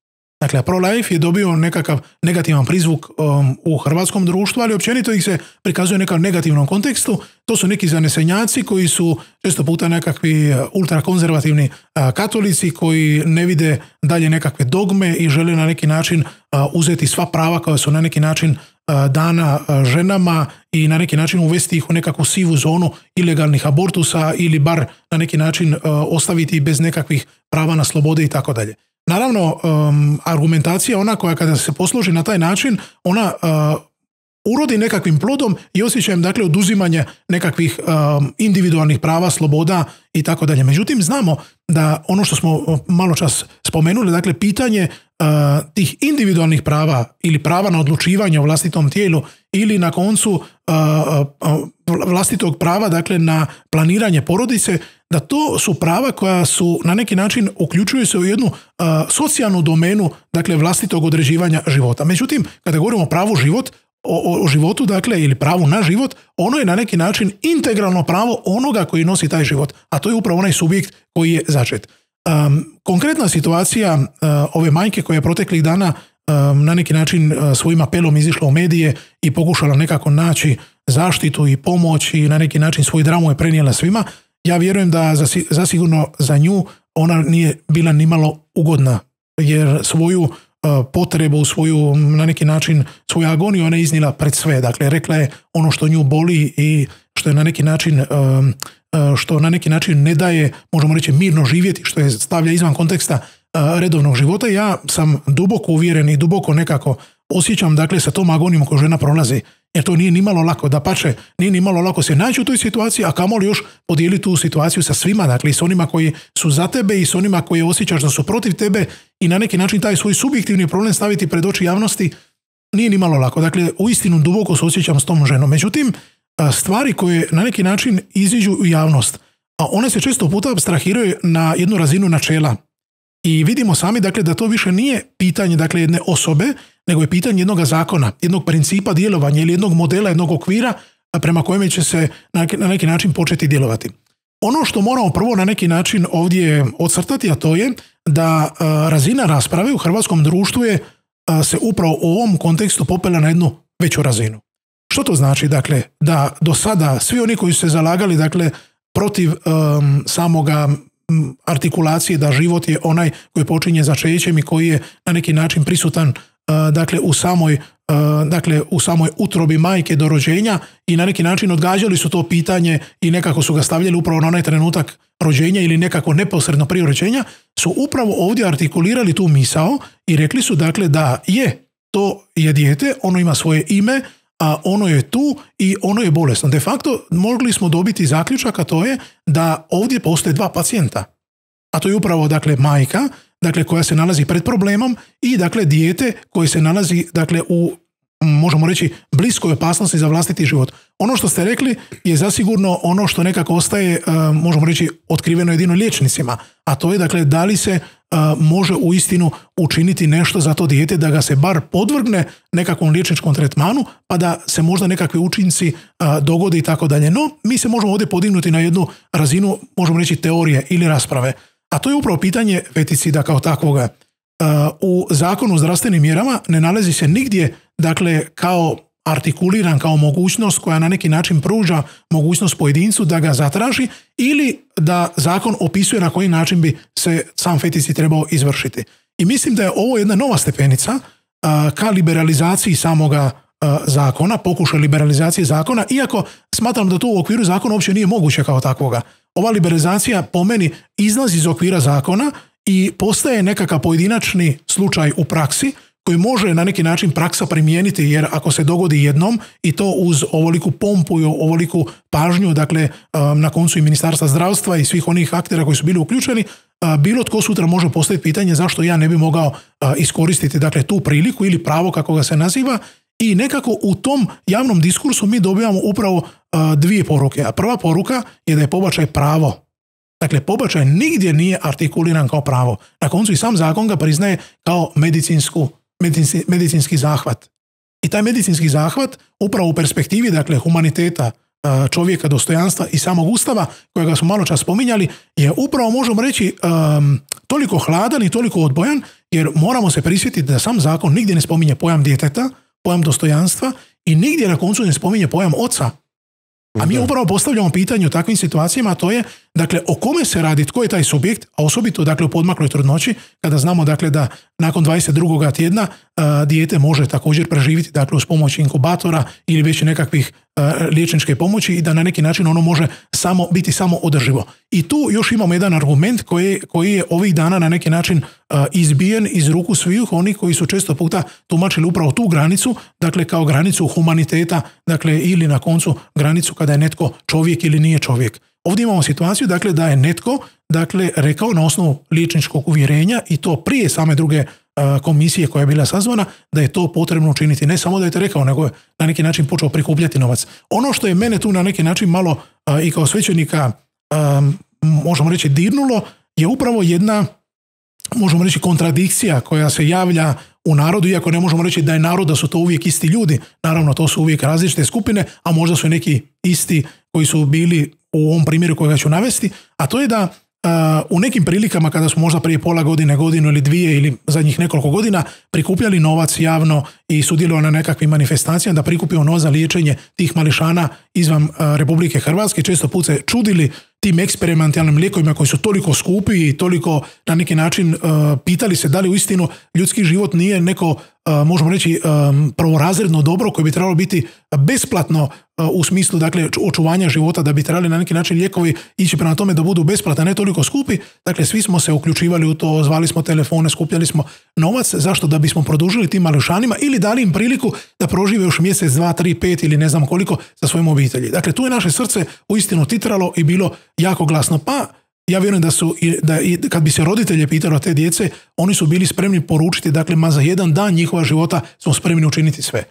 Dakle, pro-life je dobio nekakav negativan prizvuk um, u hrvatskom društvu, ali općenito ih se prikazuje u nekom negativnom kontekstu. To su neki zanesenjaci koji su često puta nekakvi ultrakonzervativni uh, katolici koji ne vide dalje nekakve dogme i žele na neki način uh, uzeti sva prava koja su na neki način uh, dana uh, ženama i na neki način uvesti ih u nekakvu sivu zonu ilegalnih abortusa ili bar na neki način uh, ostaviti bez nekakvih prava na slobode i tako dalje. Naravno, um, argumentacija ona koja kada se posluži na taj način, ona uh, urodi nekakvim plodom i osjećajem, dakle, oduzimanje nekakvih um, individualnih prava, sloboda i tako dalje. Međutim, znamo da ono što smo malo čas spomenuli, dakle, pitanje uh, tih individualnih prava ili prava na odlučivanje o vlastitom tijelu ili na koncu uh, uh, vlastitog prava, dakle, na planiranje porodice, da to su prava koja su na neki način uključuju se u jednu uh, socijalnu domenu, dakle, vlastitog određivanja života. Međutim, kada govorimo o pravu život, o, o životu, dakle, ili pravu na život, ono je na neki način integralno pravo onoga koji nosi taj život, a to je upravo onaj subjekt koji je začet. Um, konkretna situacija uh, ove majke koja je proteklih dana um, na neki način uh, svojim apelom izišla u medije i pokušala nekako naći zaštitu i pomoć i na neki način svoju dramu je prenijela svima, ja vjerujem da zasigurno za nju ona nije bila nimalo ugodna, jer svoju uh, potrebu, svoju na neki način svoju agoniju ona je iznijela pred sve. Dakle, rekla je ono što nju boli i što je na neki način um, uh, što na neki način ne daje, možemo reći, mirno živjeti, što je stavlja izvan konteksta uh, redovnog života. Ja sam duboko uvjeren i duboko nekako osjećam, dakle, sa tom agonijom koju žena prolazi, jer to nije nimalo lako, dapače, nije nimalo lako se naći u toj situaciji, a kamoli još podijeliti tu situaciju sa svima, dakle, i s onima koji su za tebe i s onima koji osjećaš da su protiv tebe i na neki način taj svoj subjektivni problem staviti pred oči javnosti, nije nimalo lako. Dakle, uistinu duboko se osjećam s tom ženom. Međutim, stvari koje na neki način iziđu u javnost, a one se često puta abstrahiraju na jednu razinu načela. I vidimo sami, dakle, da to više nije pitanje, dakle, jedne osobe, nego je pitanje jednog zakona, jednog principa djelovanja ili jednog modela, jednog okvira prema kojem će se na neki način početi djelovati. Ono što moramo prvo na neki način ovdje ocrtati, a to je da razina rasprave u hrvatskom društvu je se upravo u ovom kontekstu popela na jednu veću razinu. Što to znači? Dakle, da do sada svi oni koji su se zalagali, dakle, protiv um, samoga artikulacije da život je onaj koji počinje začećem i koji je na neki način prisutan uh, dakle, u samoj, uh, dakle, u samoj utrobi majke do rođenja i na neki način odgađali su to pitanje i nekako su ga stavljali upravo na onaj trenutak rođenja ili nekako neposredno prije rođenja, su upravo ovdje artikulirali tu misao i rekli su, dakle, da je to je dijete, ono ima svoje ime, a ono je tu i ono je bolesno. De facto mogli smo dobiti zaključak, a to je da ovdje postoje dva pacijenta. A to je upravo, dakle, majka, dakle, koja se nalazi pred problemom i, dakle, dijete koje se nalazi, dakle, u, možemo reći, bliskoj opasnosti za vlastiti život. Ono što ste rekli je zasigurno ono što nekako ostaje, možemo reći, otkriveno jedino liječnicima, a to je, dakle, da li se može uistinu učiniti nešto za to dijete, da ga se bar podvrgne nekakvom liječničkom tretmanu, pa da se možda nekakvi učinci dogode i tako dalje. No, mi se možemo ovdje podignuti na jednu razinu, možemo reći, teorije ili rasprave. A to je upravo pitanje feticida kao takvoga. U zakonu o zdravstvenim mjerama ne nalazi se nigdje, dakle, kao artikuliran, kao mogućnost koja na neki način pruža mogućnost pojedincu da ga zatraži ili da zakon opisuje na koji način bi se sam feticid trebao izvršiti. I mislim da je ovo jedna nova stepenica uh, ka liberalizaciji samoga uh, zakona, pokušaj liberalizacije zakona, iako smatram da to u okviru zakona uopće nije moguće kao takvoga. Ova liberalizacija po meni izlazi iz okvira zakona i postaje nekakav pojedinačni slučaj u praksi koji može na neki način praksa primijeniti, jer ako se dogodi jednom i to uz ovoliku pompu i ovoliku pažnju, dakle na koncu i Ministarstva zdravstva i svih onih aktera koji su bili uključeni, bilo tko sutra može postaviti pitanje zašto ja ne bi mogao iskoristiti dakle tu priliku ili pravo kako ga se naziva. I nekako u tom javnom diskursu mi dobijamo upravo dvije poruke. A prva poruka je da je pobačaj pravo. Dakle, pobačaj nigdje nije artikuliran kao pravo. Na koncu i sam zakon ga priznaje kao medicinsku, medicinski, medicinski zahvat. I taj medicinski zahvat upravo u perspektivi, dakle, humaniteta, čovjeka, dostojanstva i samog Ustava, kojega smo malo čas spominjali, je upravo, možemo reći, um, toliko hladan i toliko odbojan, jer moramo se prisjetiti da sam zakon nigdje ne spominje pojam djeteta, pojam dostojanstva i nigdje na koncu ne spominje pojam oca. A mi upravo postavljamo pitanje u takvim situacijama, a to je, dakle, o kome se radi, tko je taj subjekt, a osobito, dakle, u podmakloj trudnoći, kada znamo, dakle, da nakon dvadeset drugog tjedna a, dijete može također preživjeti, dakle, uz pomoć inkubatora ili već nekakvih a, liječničke pomoći i da na neki način ono može samo biti samo održivo. I tu još imamo jedan argument koji, koji je ovih dana na neki način a, izbijen iz ruku svih onih koji su često puta tumačili upravo tu granicu, dakle, kao granicu humaniteta, dakle, ili na koncu granicu kada je netko čovjek ili nije čovjek. Ovdje imamo situaciju, dakle, da je netko, dakle, rekao na osnovu liječničkog uvjerenja i to prije same druge uh, komisije koja je bila sazvana, da je to potrebno učiniti. Ne samo da je to rekao, nego je na neki način počeo prikupljati novac. Ono što je mene tu na neki način malo uh, i kao svećenika, um, možemo reći, dirnulo, je upravo jedna, možemo reći, kontradikcija koja se javlja u narodu, iako ne možemo reći da je narod, da su to uvijek isti ljudi. Naravno, to su uvijek različite skupine, a možda su neki isti koji su bili u ovom primjeru kojega ću navesti, a to je da uh, u nekim prilikama kada smo možda prije pola godine, godinu ili dvije ili zadnjih nekoliko godina prikupljali novac javno i sudjelovali na nekakvim manifestacijama da prikupimo novac za liječenje tih mališana izvan uh, Republike Hrvatske, često put se čudili tim eksperimentalnim lijekovima koji su toliko skupi i toliko na neki način uh, pitali se da li uistinu ljudski život nije neko, uh, možemo reći, um, prvorazredno dobro koje bi trebalo biti besplatno uh, u smislu, dakle, očuvanja života, da bi trebali na neki način lijekovi ići prema tome da budu besplatni, ne toliko skupi. Dakle, svi smo se uključivali u to, zvali smo telefone, skupljali smo novac, zašto? Da bismo produžili tim mališanima ili dali im priliku da prožive još mjesec, dva, tri, pet ili ne znam koliko sa svojim obitelji. Dakle, tu je naše srce uistinu titralo i bilo jako glasno. Pa ja vjerujem da su, da i kad bi se roditelje pitalo te djece, oni su bili spremni poručiti, dakle, ma za jedan dan njihova života smo spremni učiniti sve.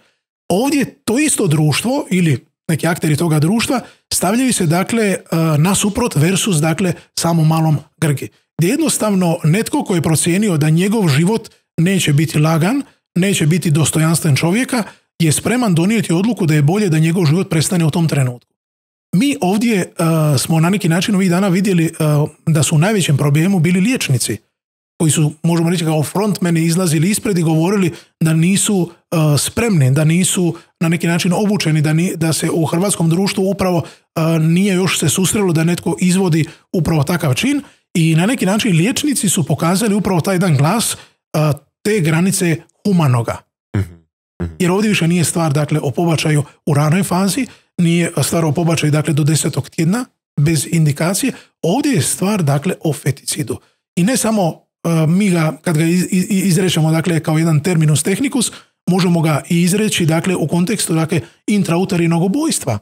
Ovdje to isto društvo ili neki akteri toga društva stavljaju se, dakle, nasuprot versus, dakle, samo malom Grgi. Gdje jednostavno netko koji je procijenio da njegov život neće biti lagan, neće biti dostojanstven čovjeka, je spreman donijeti odluku da je bolje da njegov život prestane u tom trenutku. Mi ovdje uh, smo na neki način ovih dana vidjeli uh, da su u najvećem problemu bili liječnici koji su, možemo reći, kao frontmeni izlazili ispred i govorili da nisu uh, spremni, da nisu na neki način obučeni, da, ni, da se u hrvatskom društvu upravo uh, nije još se susrelo da netko izvodi upravo takav čin i na neki način liječnici su pokazali upravo taj jedan glas uh, te granice humanoga. Jer ovdje više nije stvar, dakle, o pobačaju u ranoj fazi, nije stvar o pobačaju, dakle, do desetog tjedna bez indikacije. Ovdje je stvar, dakle, o feticidu. I ne samo uh, mi ga, kad ga iz, iz, izrečemo, dakle, kao jedan terminus technicus, možemo ga i izreći, dakle, u kontekstu, dakle, intrauterinnog ubojstva.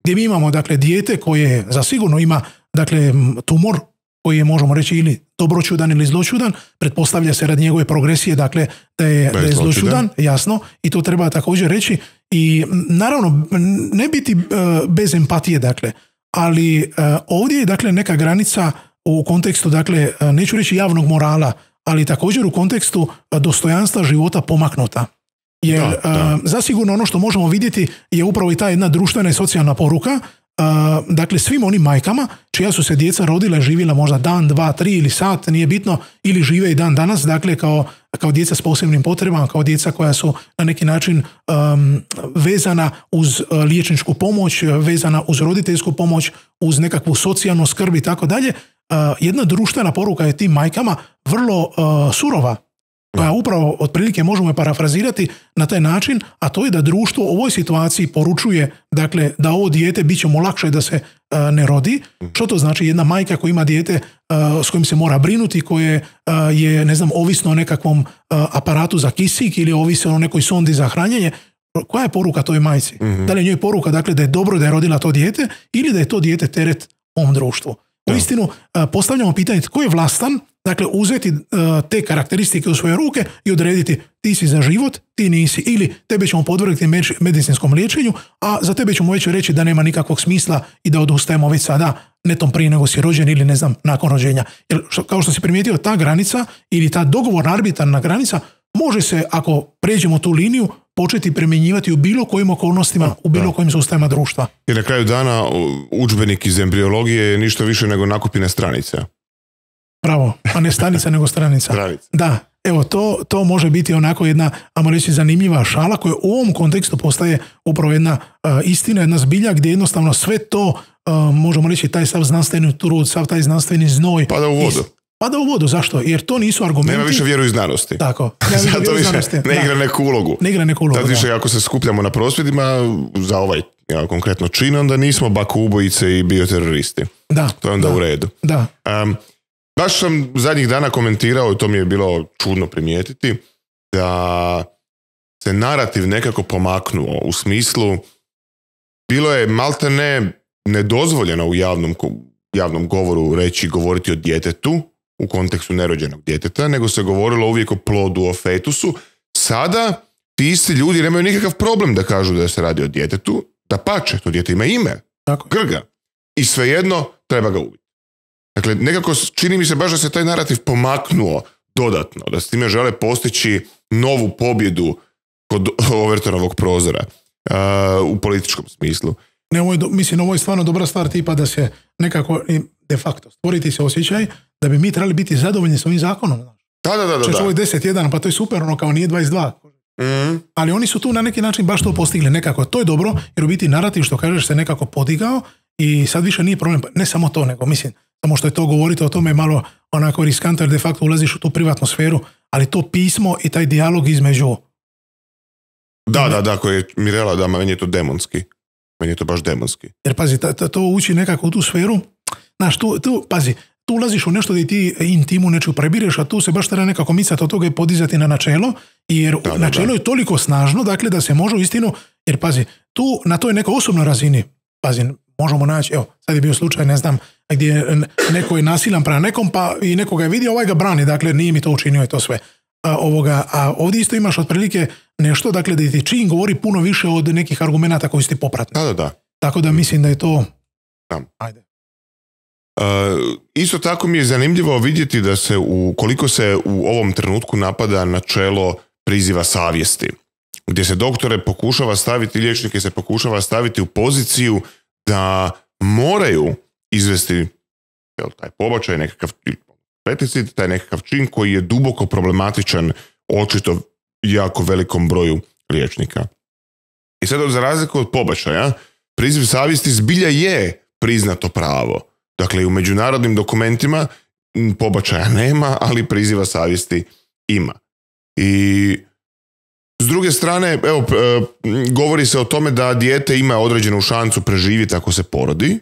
Gdje mi imamo, dakle, dijete koje zasigurno ima, dakle, tumor koji je, možemo reći, ili dobročudan ili zločudan, pretpostavlja se radi njegove progresije, dakle, da je, da je zločudan, jasno, i to treba također reći. I naravno, ne biti uh, bez empatije, dakle, ali uh, ovdje je, dakle, neka granica u kontekstu, dakle, uh, neću reći javnog morala, ali također u kontekstu uh, dostojanstva života pomaknuta. Jer da, da. Uh, zasigurno ono što možemo vidjeti je upravo i ta jedna društvena i socijalna poruka. Uh, dakle, svim onim majkama čija su se djeca rodila, živjela možda dan, dva, tri ili sat, nije bitno, ili žive i dan danas, dakle, kao, kao djeca s posebnim potrebama, kao djeca koja su na neki način um, vezana uz uh, liječničku pomoć, vezana uz roditeljsku pomoć, uz nekakvu socijalnu skrb i tako dalje. Jedna društvena poruka je tim majkama vrlo uh, surova. koja upravo otprilike možemo je parafrazirati na taj način, a to je da društvo u ovoj situaciji poručuje, dakle, da ovo dijete bit će mu lakše da se a, ne rodi. Što to znači? Jedna majka koja ima dijete a, s kojim se mora brinuti, koje a, je, ne znam, ovisno o nekakvom a, aparatu za kisik ili ovisno o nekoj sondi za hranjenje, koja je poruka toj majci? Mm-hmm. Da li je njoj poruka, dakle, da je dobro da je rodila to dijete ili da je to dijete teret ovom društvu? U istinu, postavljamo pitanje tko je vlastan, dakle uzeti te karakteristike u svoje ruke i odrediti ti si za život, ti nisi, ili tebe ćemo podvrgti medicinskom liječenju, a za tebe ćemo već reći da nema nikakvog smisla i da odustajemo već sada netom prije nego si rođen ili ne znam nakon rođenja. Jer kao što si primijetio, ta granica ili ta dogovorna arbitrarna granica može se, ako pređemo tu liniju, početi primjenjivati u bilo kojim okolnostima, u bilo kojim sustavima društva. I na kraju dana udžbenik iz embriologije je ništa više nego nakupine stranice. Bravo, a ne stanica nego stranica. Stranica. Da, evo, to, to može biti onako jedna, ajmo reći, zanimljiva šala koja u ovom kontekstu postaje upravo jedna uh, istina, jedna zbilja gdje jednostavno sve to, uh, možemo reći, taj sav znanstveni trud, sav taj znanstveni znoj pada u vodu. Is, pada u vodu, zašto? Jer to nisu argumenti. Nema više vjeru i znanosti. Tako. Zato više znanosti. ne igra da. neku ulogu. Ne igra neku ulogu, Tad više ako se skupljamo na prosvjedima za ovaj ja, konkretno čin, onda nismo bako ubojice i bioteroristi. Da. To je onda da. u redu. Da. Um, baš sam zadnjih dana komentirao, i to mi je bilo čudno primijetiti, da se narativ nekako pomaknuo u smislu bilo je malte ne nedozvoljeno u javnom javnom govoru reći, govoriti o djetetu u kontekstu nerođenog djeteta, nego se govorilo uvijek o plodu, o fetusu. Sada ti isti ljudi nemaju nikakav problem da kažu da se radi o djetetu, da pače, to dijete ima ime, tako. Grga. I svejedno treba ga ubiti. Dakle, nekako čini mi se baš da se taj narativ pomaknuo dodatno, da s time žele postići novu pobjedu kod Overtonovog prozora uh, u političkom smislu. Ne, ovo je, mislim, ovo je stvarno dobra stvar tipa da se nekako de facto stvoriti se osjećaj da bi mi trebali biti zadovoljni s ovim zakonom. Da, da, da. da, da. Ovo je deset jedan, pa to je super, ono kao nije dvadeset dva. Mm. Ali oni su tu na neki način baš to postigli nekako. To je dobro, jer u biti narativ, što kažeš, se nekako podigao i sad više nije problem. Ne samo to, nego mislim, samo što je to govoriti o tome je malo onako riskantno, jer de facto ulaziš u tu privatnu sferu, ali to pismo i taj dijalog između... Da, da, da, koji je Mirela, da, meni je to demonski. Meni je to baš demonski. Jer pazi, ta, ta, to uči nekako u tu sferu. Znaš, tu, tu, pazi, tu ulaziš u nešto da ti intimu nečiju prebireš, a tu se baš treba nekako micati od toga i podizati na načelo, jer da, da, načelo da. je toliko snažno, dakle, da se može u istinu, jer pazi, tu na toj nekoj osobnoj razini, pazi, možemo naći, evo, sad je bio slučaj, ne znam, gdje neko je nasilan prema nekom, pa i nekoga je vidio, ovaj ga brani, dakle, nije mi to učinio i to sve. A, ovoga, a ovdje isto imaš otprilike nešto, dakle, da ti čin govori puno više od nekih argumenata koji su ti popratni. Da, da, da. Tako da mislim da je to... Da. Ajde. Uh, isto tako mi je zanimljivo vidjeti da se u, koliko se u ovom trenutku napada načelo priziva savjesti, gdje se doktore pokušava staviti, liječnike se pokušava staviti u poziciju da moraju izvesti jel, taj pobačaj, nekakav peticid, taj nekakav čin koji je duboko problematičan očito jako velikom broju liječnika. I sad za razliku od pobačaja, priziv savjesti zbilja je priznato pravo. Dakle, u međunarodnim dokumentima pobačaja nema, ali priziva savjesti ima. I s druge strane, evo, govori se o tome da dijete ima određenu šansu preživjeti ako se porodi,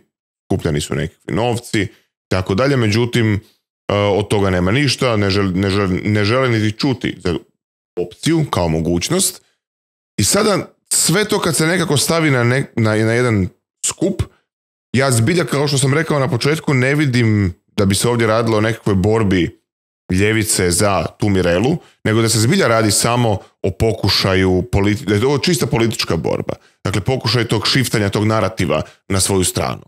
kupljani su nekakvi novci, tako dalje, međutim, od toga nema ništa, ne žele, ne žele, ne žele niti čuti za opciju kao mogućnost. I sada sve to kad se nekako stavi na, ne, na, na jedan skup, ja zbilja, kao što sam rekao na početku, ne vidim da bi se ovdje radilo o nekakvoj borbi ljevice za tu Mirelu, nego da se zbilja radi samo o pokušaju, politi- da je to čista politička borba. Dakle, pokušaj tog šiftanja, tog narativa na svoju stranu.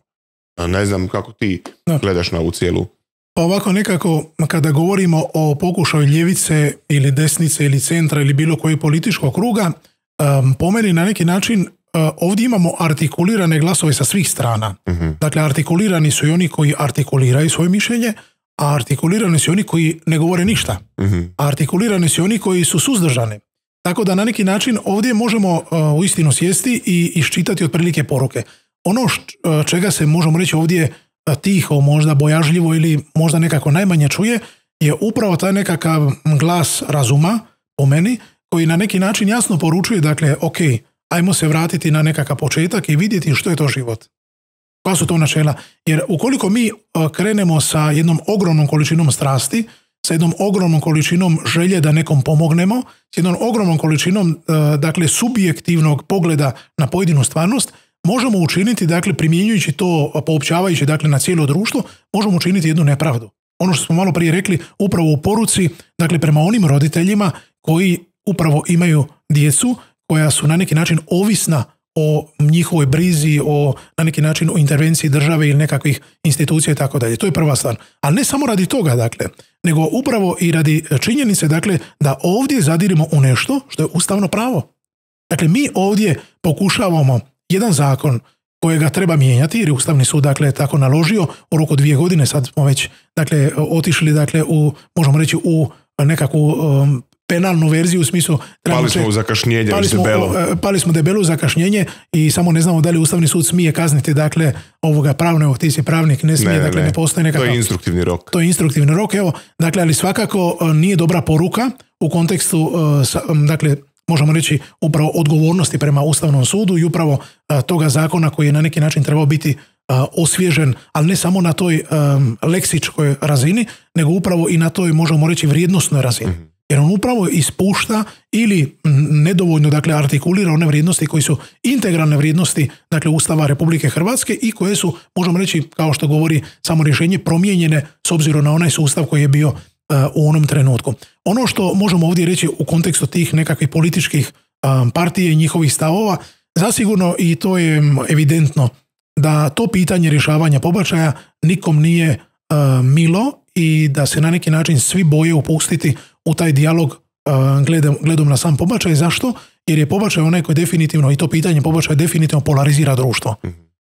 Ne znam kako ti da. gledaš na ovu cijelu. Pa ovako nekako, kada govorimo o pokušaju ljevice ili desnice ili centra ili bilo koji političkog kruga, um, po meni na neki način Uh, ovdje imamo artikulirane glasove sa svih strana. Uh-huh. Dakle, artikulirani su i oni koji artikuliraju svoje mišljenje, a artikulirani su i oni koji ne govore ništa. Uh-huh. A artikulirani su i oni koji su suzdržani. Tako da na neki način ovdje možemo uh, uistinu sjesti i iščitati otprilike poruke. Ono š, uh, čega se možemo reći ovdje uh, tiho, možda bojažljivo ili možda nekako najmanje čuje, je upravo taj nekakav glas razuma, po meni, koji na neki način jasno poručuje, dakle, ok, ajmo se vratiti na nekakav početak i vidjeti što je to život. Koja su to načela? Jer ukoliko mi krenemo sa jednom ogromnom količinom strasti, sa jednom ogromnom količinom želje da nekom pomognemo, s jednom ogromnom količinom, dakle, subjektivnog pogleda na pojedinu stvarnost, možemo učiniti, dakle, primjenjujući to, poopćavajući, dakle, na cijelo društvo, možemo učiniti jednu nepravdu. Ono što smo malo prije rekli, upravo u poruci, dakle, prema onim roditeljima koji upravo imaju djecu koja su na neki način ovisna o njihovoj brizi, o na neki način o intervenciji države ili nekakvih institucija i tako dalje. To je prva stvar. Ali ne samo radi toga, dakle, nego upravo i radi činjenice, dakle, da ovdje zadirimo u nešto što je ustavno pravo. Dakle, mi ovdje pokušavamo jedan zakon kojega treba mijenjati, jer je Ustavni sud, dakle, tako naložio u roku dvije godine, sad smo već, dakle, otišli, dakle, u, možemo reći, u nekakvu um, penalnu verziju u smislu... Pali smo u zakašnjenje, pali smo, debelo. Pali smo debelo u zakašnjenje i samo ne znamo da li Ustavni sud smije kazniti, dakle, ovoga pravnog, ti si pravnik, ne smije, ne, dakle, ne, ne postoji nekakav... To je instruktivni rok. To je instruktivni rok, evo, dakle, ali svakako nije dobra poruka u kontekstu, dakle, možemo reći, upravo odgovornosti prema Ustavnom sudu i upravo a, toga zakona koji je na neki način trebao biti a, osvježen, ali ne samo na toj a, leksičkoj razini, nego upravo i na toj, možemo reći, vrijednosnoj razini. Mm-hmm. Jer on upravo ispušta ili nedovoljno, dakle, artikulira one vrijednosti koji su integralne vrijednosti, dakle, Ustava Republike Hrvatske i koje su, možemo reći, kao što govori samo rješenje, promijenjene s obzirom na onaj sustav koji je bio u onom trenutku. Ono što možemo ovdje reći u kontekstu tih nekakvih političkih partije i njihovih stavova, zasigurno, i to je evidentno, da to pitanje rješavanja pobačaja nikom nije milo i da se na neki način svi boje upustiti u taj dijalog gledom, gledom na sam pobačaj. Zašto? Jer je pobačaj onaj koji definitivno, i to pitanje pobačaja definitivno polarizira društvo.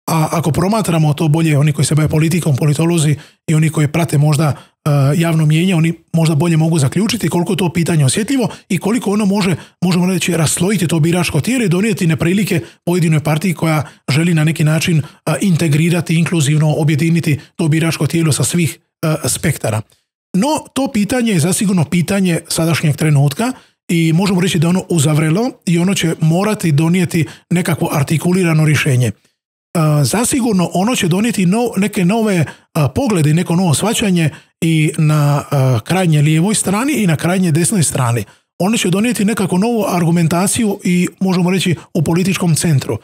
A ako promatramo to bolje, oni koji se bave politikom, politolozi i oni koji prate možda uh, javno mijenje, oni možda bolje mogu zaključiti koliko to pitanje osjetljivo i koliko ono može, možemo reći, raslojiti to biračko tijelo i donijeti neprilike pojedinoj partiji koja želi na neki način uh, integrirati, inkluzivno objediniti to biračko tijelo sa svih uh, spektara. No, to pitanje je zasigurno pitanje sadašnjeg trenutka i možemo reći da ono uzavrelo i ono će morati donijeti nekakvo artikulirano rješenje. Zasigurno ono će donijeti no, neke nove a, poglede, neko novo shvaćanje i na a, krajnje lijevoj strani i na krajnje desnoj strani. Ono će donijeti nekako novu argumentaciju i možemo reći u političkom centru.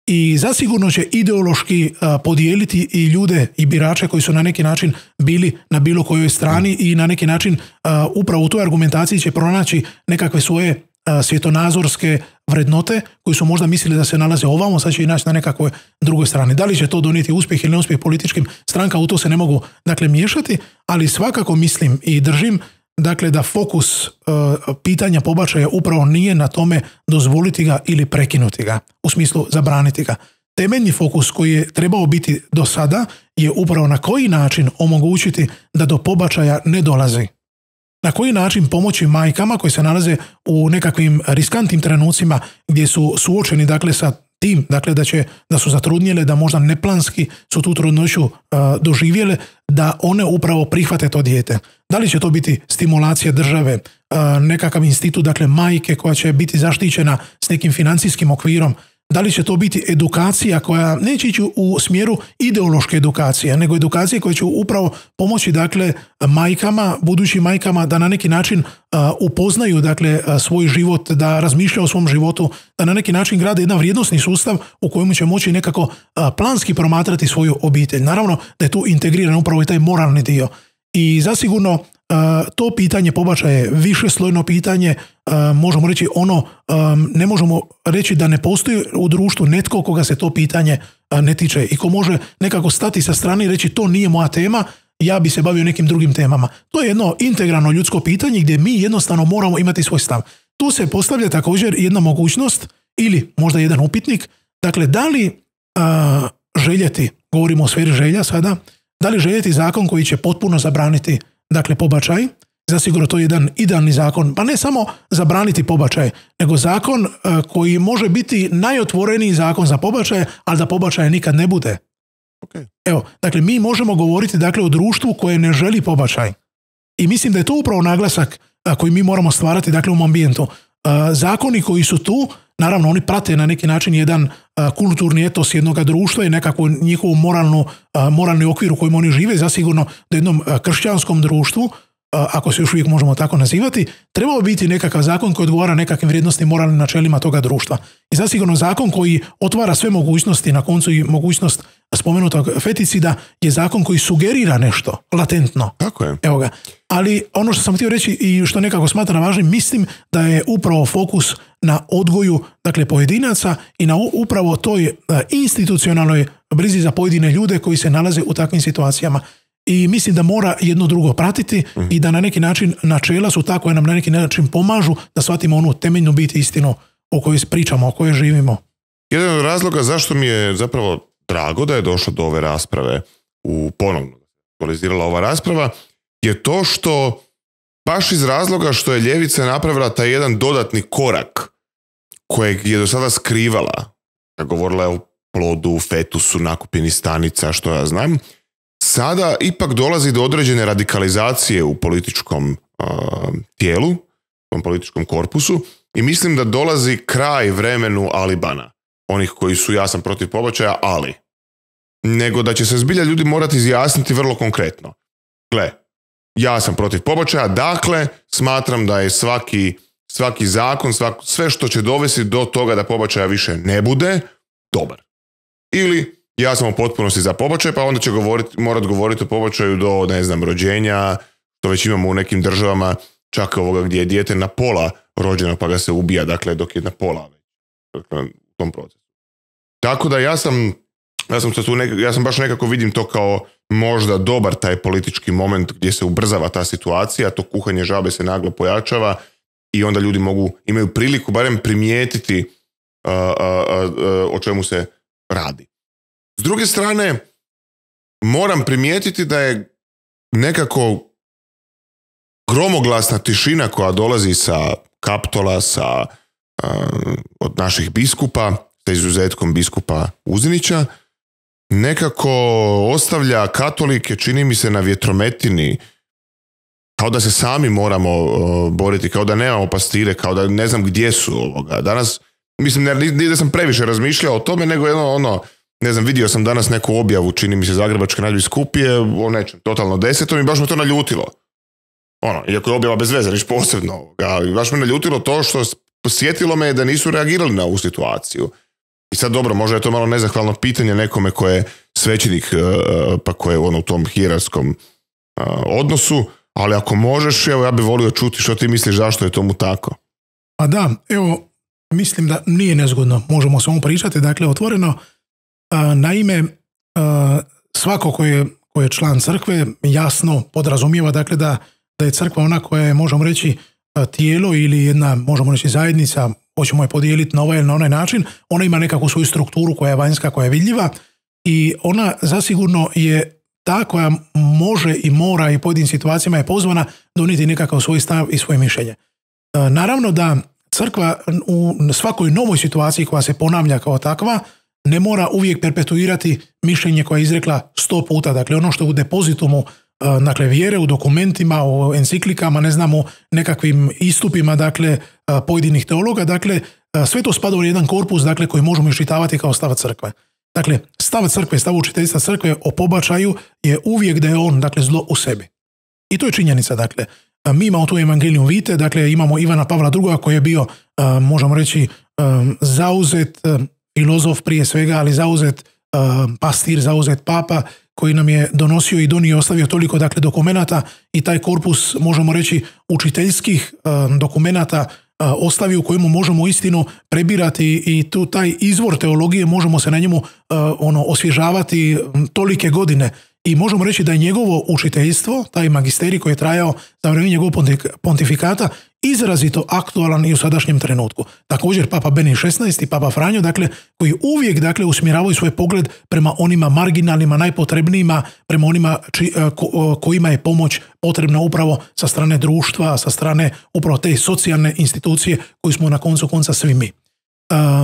I zasigurno će ideološki a, podijeliti i ljude i birače koji su na neki način bili na bilo kojoj strani i na neki način a, upravo u toj argumentaciji će pronaći nekakve svoje svjetonazorske vrednote koji su možda mislili da se nalaze ovamo, sad će i naći na nekakvoj drugoj strani. Da li će to donijeti uspjeh ili neuspjeh političkim stranka, u to se ne mogu, dakle, miješati, ali svakako mislim i držim, dakle, da fokus uh, pitanja pobačaja upravo nije na tome dozvoliti ga ili prekinuti ga, u smislu zabraniti ga. Temeljni fokus koji je trebao biti do sada je upravo na koji način omogućiti da do pobačaja ne dolazi. Na koji način pomoći majkama koji se nalaze u nekakvim riskantnim trenucima gdje su suočeni, dakle, sa tim, dakle, da će, da su zatrudnjele, da možda neplanski su tu trudnoću uh, doživjele, da one upravo prihvate to dijete. Da li će to biti stimulacija države, uh, nekakav institut, dakle, majke koja će biti zaštićena s nekim financijskim okvirom, da li će to biti edukacija koja neće ići u smjeru ideološke edukacije, nego edukacije koje će upravo pomoći, dakle, majkama, budućim majkama da na neki način uh, upoznaju, dakle, uh, svoj život, da razmišljaju o svom životu, da na neki način grade jedan vrijednosni sustav u kojemu će moći nekako uh, planski promatrati svoju obitelj. Naravno da je tu integriran upravo i taj moralni dio. I zasigurno uh, to pitanje pobačaja je višeslojno pitanje, uh, možemo reći ono, um, ne možemo reći da ne postoji u društvu netko koga se to pitanje uh, ne tiče i ko može nekako stati sa strane i reći to nije moja tema, ja bi se bavio nekim drugim temama. To je jedno integralno ljudsko pitanje gdje mi jednostavno moramo imati svoj stav. Tu se postavlja također jedna mogućnost ili možda jedan upitnik, dakle, da li uh, željeti, govorimo o sferi želja sada, da li željeti zakon koji će potpuno zabraniti, dakle, pobačaj? Zasigurno to je jedan idealni zakon, pa ne samo zabraniti pobačaj, nego zakon uh, koji može biti najotvoreniji zakon za pobačaje, ali da pobačaja nikad ne bude. Okay. Evo, dakle, mi možemo govoriti, dakle, o društvu koje ne želi pobačaj. I mislim da je to upravo naglasak koji mi moramo stvarati, dakle, u ovom ambijentu. Zakoni koji su tu, naravno, oni prate na neki način jedan kulturni etos jednog društva i nekako njihovu moralnu, moralni okvir u kojem oni žive, zasigurno da jednom kršćanskom društvu, ako se još uvijek možemo tako nazivati, trebao biti nekakav zakon koji odgovara nekakvim vrijednosnim moralnim načelima toga društva. I zasigurno zakon koji otvara sve mogućnosti, na koncu i mogućnost spomenutog feticida, je zakon koji sugerira nešto latentno. Tako je. Evo ga. Ali ono što sam htio reći i što nekako smatram važnim, mislim da je upravo fokus na odgoju, dakle, pojedinaca i na upravo toj institucionalnoj brizi za pojedine ljude koji se nalaze u takvim situacijama. I mislim da mora jedno drugo pratiti mm. i da na neki način načela su tako, koje nam na neki način pomažu da shvatimo onu temeljnu bit istinu o kojoj pričamo, o kojoj živimo. Jedan od razloga zašto mi je zapravo drago da je došlo do ove rasprave, u ponovno aktualizirala ova rasprava, je to što baš iz razloga što je ljevica napravila taj jedan dodatni korak kojeg je do sada skrivala. Govorila je o plodu, fetusu, nakupini stanica, što ja znam. Sada ipak dolazi do određene radikalizacije u političkom uh, tijelu, u tom političkom korpusu, i mislim da dolazi kraj vremenu alibana. Onih koji su ja sam protiv pobačaja, ali. Nego da će se zbilja ljudi morati izjasniti vrlo konkretno. Gle, ja sam protiv pobačaja, dakle smatram da je svaki, svaki zakon, svak, sve što će dovesti do toga da pobačaja više ne bude, dobar. Ili ja sam u potpunosti za pobačaj, pa onda će govoriti, morat govoriti o pobačaju do, ne znam, rođenja, to već imamo u nekim državama, čak ovoga gdje je dijete na pola rođeno pa ga se ubija, dakle dok je na pola dakle, u tom procesu. Tako da ja sam, ja sam, tu nek, ja sam baš nekako vidim to kao možda dobar taj politički moment gdje se ubrzava ta situacija, to kuhanje žabe se naglo pojačava i onda ljudi mogu, imaju priliku barem primijetiti uh, uh, uh, o čemu se radi. S druge strane, moram primijetiti da je nekako gromoglasna tišina koja dolazi sa Kaptola, sa, uh, od naših biskupa, sa izuzetkom biskupa Uzinića, nekako ostavlja katolike, čini mi se, na vjetrometini, kao da se sami moramo uh, boriti, kao da nemamo pastire, kao da ne znam gdje su ovoga. Danas, mislim, ne, ne da sam previše razmišljao o tome, nego jedno ono, ne znam, vidio sam danas neku objavu, čini mi se Zagrebačke nadbiskupije o nečem totalno desetom i baš me to naljutilo. Ono, iako je objava bez veze, niš posebno ovoga, baš me naljutilo to što posjetilo me da nisu reagirali na ovu situaciju. I sad dobro, možda je to malo nezahvalno pitanje nekome ko je svećenik, pa ko je ono u tom hijerarskom odnosu, ali ako možeš, evo ja bih volio čuti što ti misliš, zašto je tomu tako. Pa da, evo, mislim da nije nezgodno, možemo samo pričati, dakle, otvoreno. Naime, svako ko je, ko je član crkve jasno podrazumijeva, dakle, da, da je crkva ona koja je, možemo reći, tijelo ili jedna, možemo reći, zajednica, hoćemo je podijeliti na ovaj ili na onaj način, ona ima nekakvu svoju strukturu koja je vanjska, koja je vidljiva i ona zasigurno je ta koja može i mora i u pojedinim situacijama je pozvana donijeti nekakav svoj stav i svoje mišljenje. Naravno da crkva u svakoj novoj situaciji koja se ponavlja kao takva ne mora uvijek perpetuirati mišljenje koje je izrekla sto puta. Dakle, ono što je u depozitumu, dakle, vjere, u dokumentima, u enciklikama, ne znamo, nekakvim istupima, dakle, pojedinih teologa, dakle, sve to spada u jedan korpus, dakle, koji možemo iščitavati kao stav crkve. Dakle, stav crkve, stav učiteljstva crkve o pobačaju je uvijek da je on, dakle, zlo u sebi. I to je činjenica, dakle. Mi imamo tu Evangelium Vitae, dakle, imamo Ivana Pavla drugog koji je bio, možemo reći, zauzet filozof prije svega, ali zauzet pastir, zauzet papa, koji nam je donosio i donio i ostavio toliko, dakle, dokumenata i taj korpus, možemo reći, učiteljskih dokumenata ostavi u kojemu možemo istinu prebirati i tu taj izvor teologije možemo se na njemu ono osvježavati tolike godine. I možemo reći da je njegovo učiteljstvo, taj magisterij koji je trajao za vrijeme njegovog pontifikata, izrazito aktualan i u sadašnjem trenutku. Također Papa Benedikt šesnaesti i Papa Franjo, dakle, koji uvijek, dakle, usmjeravaju svoj pogled prema onima marginalnima, najpotrebnijima, prema onima či, ko, kojima je pomoć potrebna upravo sa strane društva, sa strane upravo te socijalne institucije koju smo na koncu konca svi mi.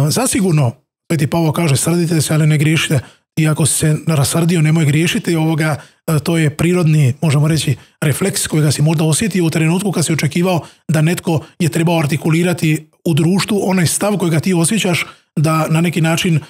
Zasigurno, Sveti Pavao kaže, srdite se, ali ne griješite. i ako si se rasrdio nemoj griješiti, ovoga, to je prirodni, možemo reći, refleks kojega si možda osjetio u trenutku kad si očekivao da netko je trebao artikulirati u društvu onaj stav kojega ti osjećaš da na neki način uh,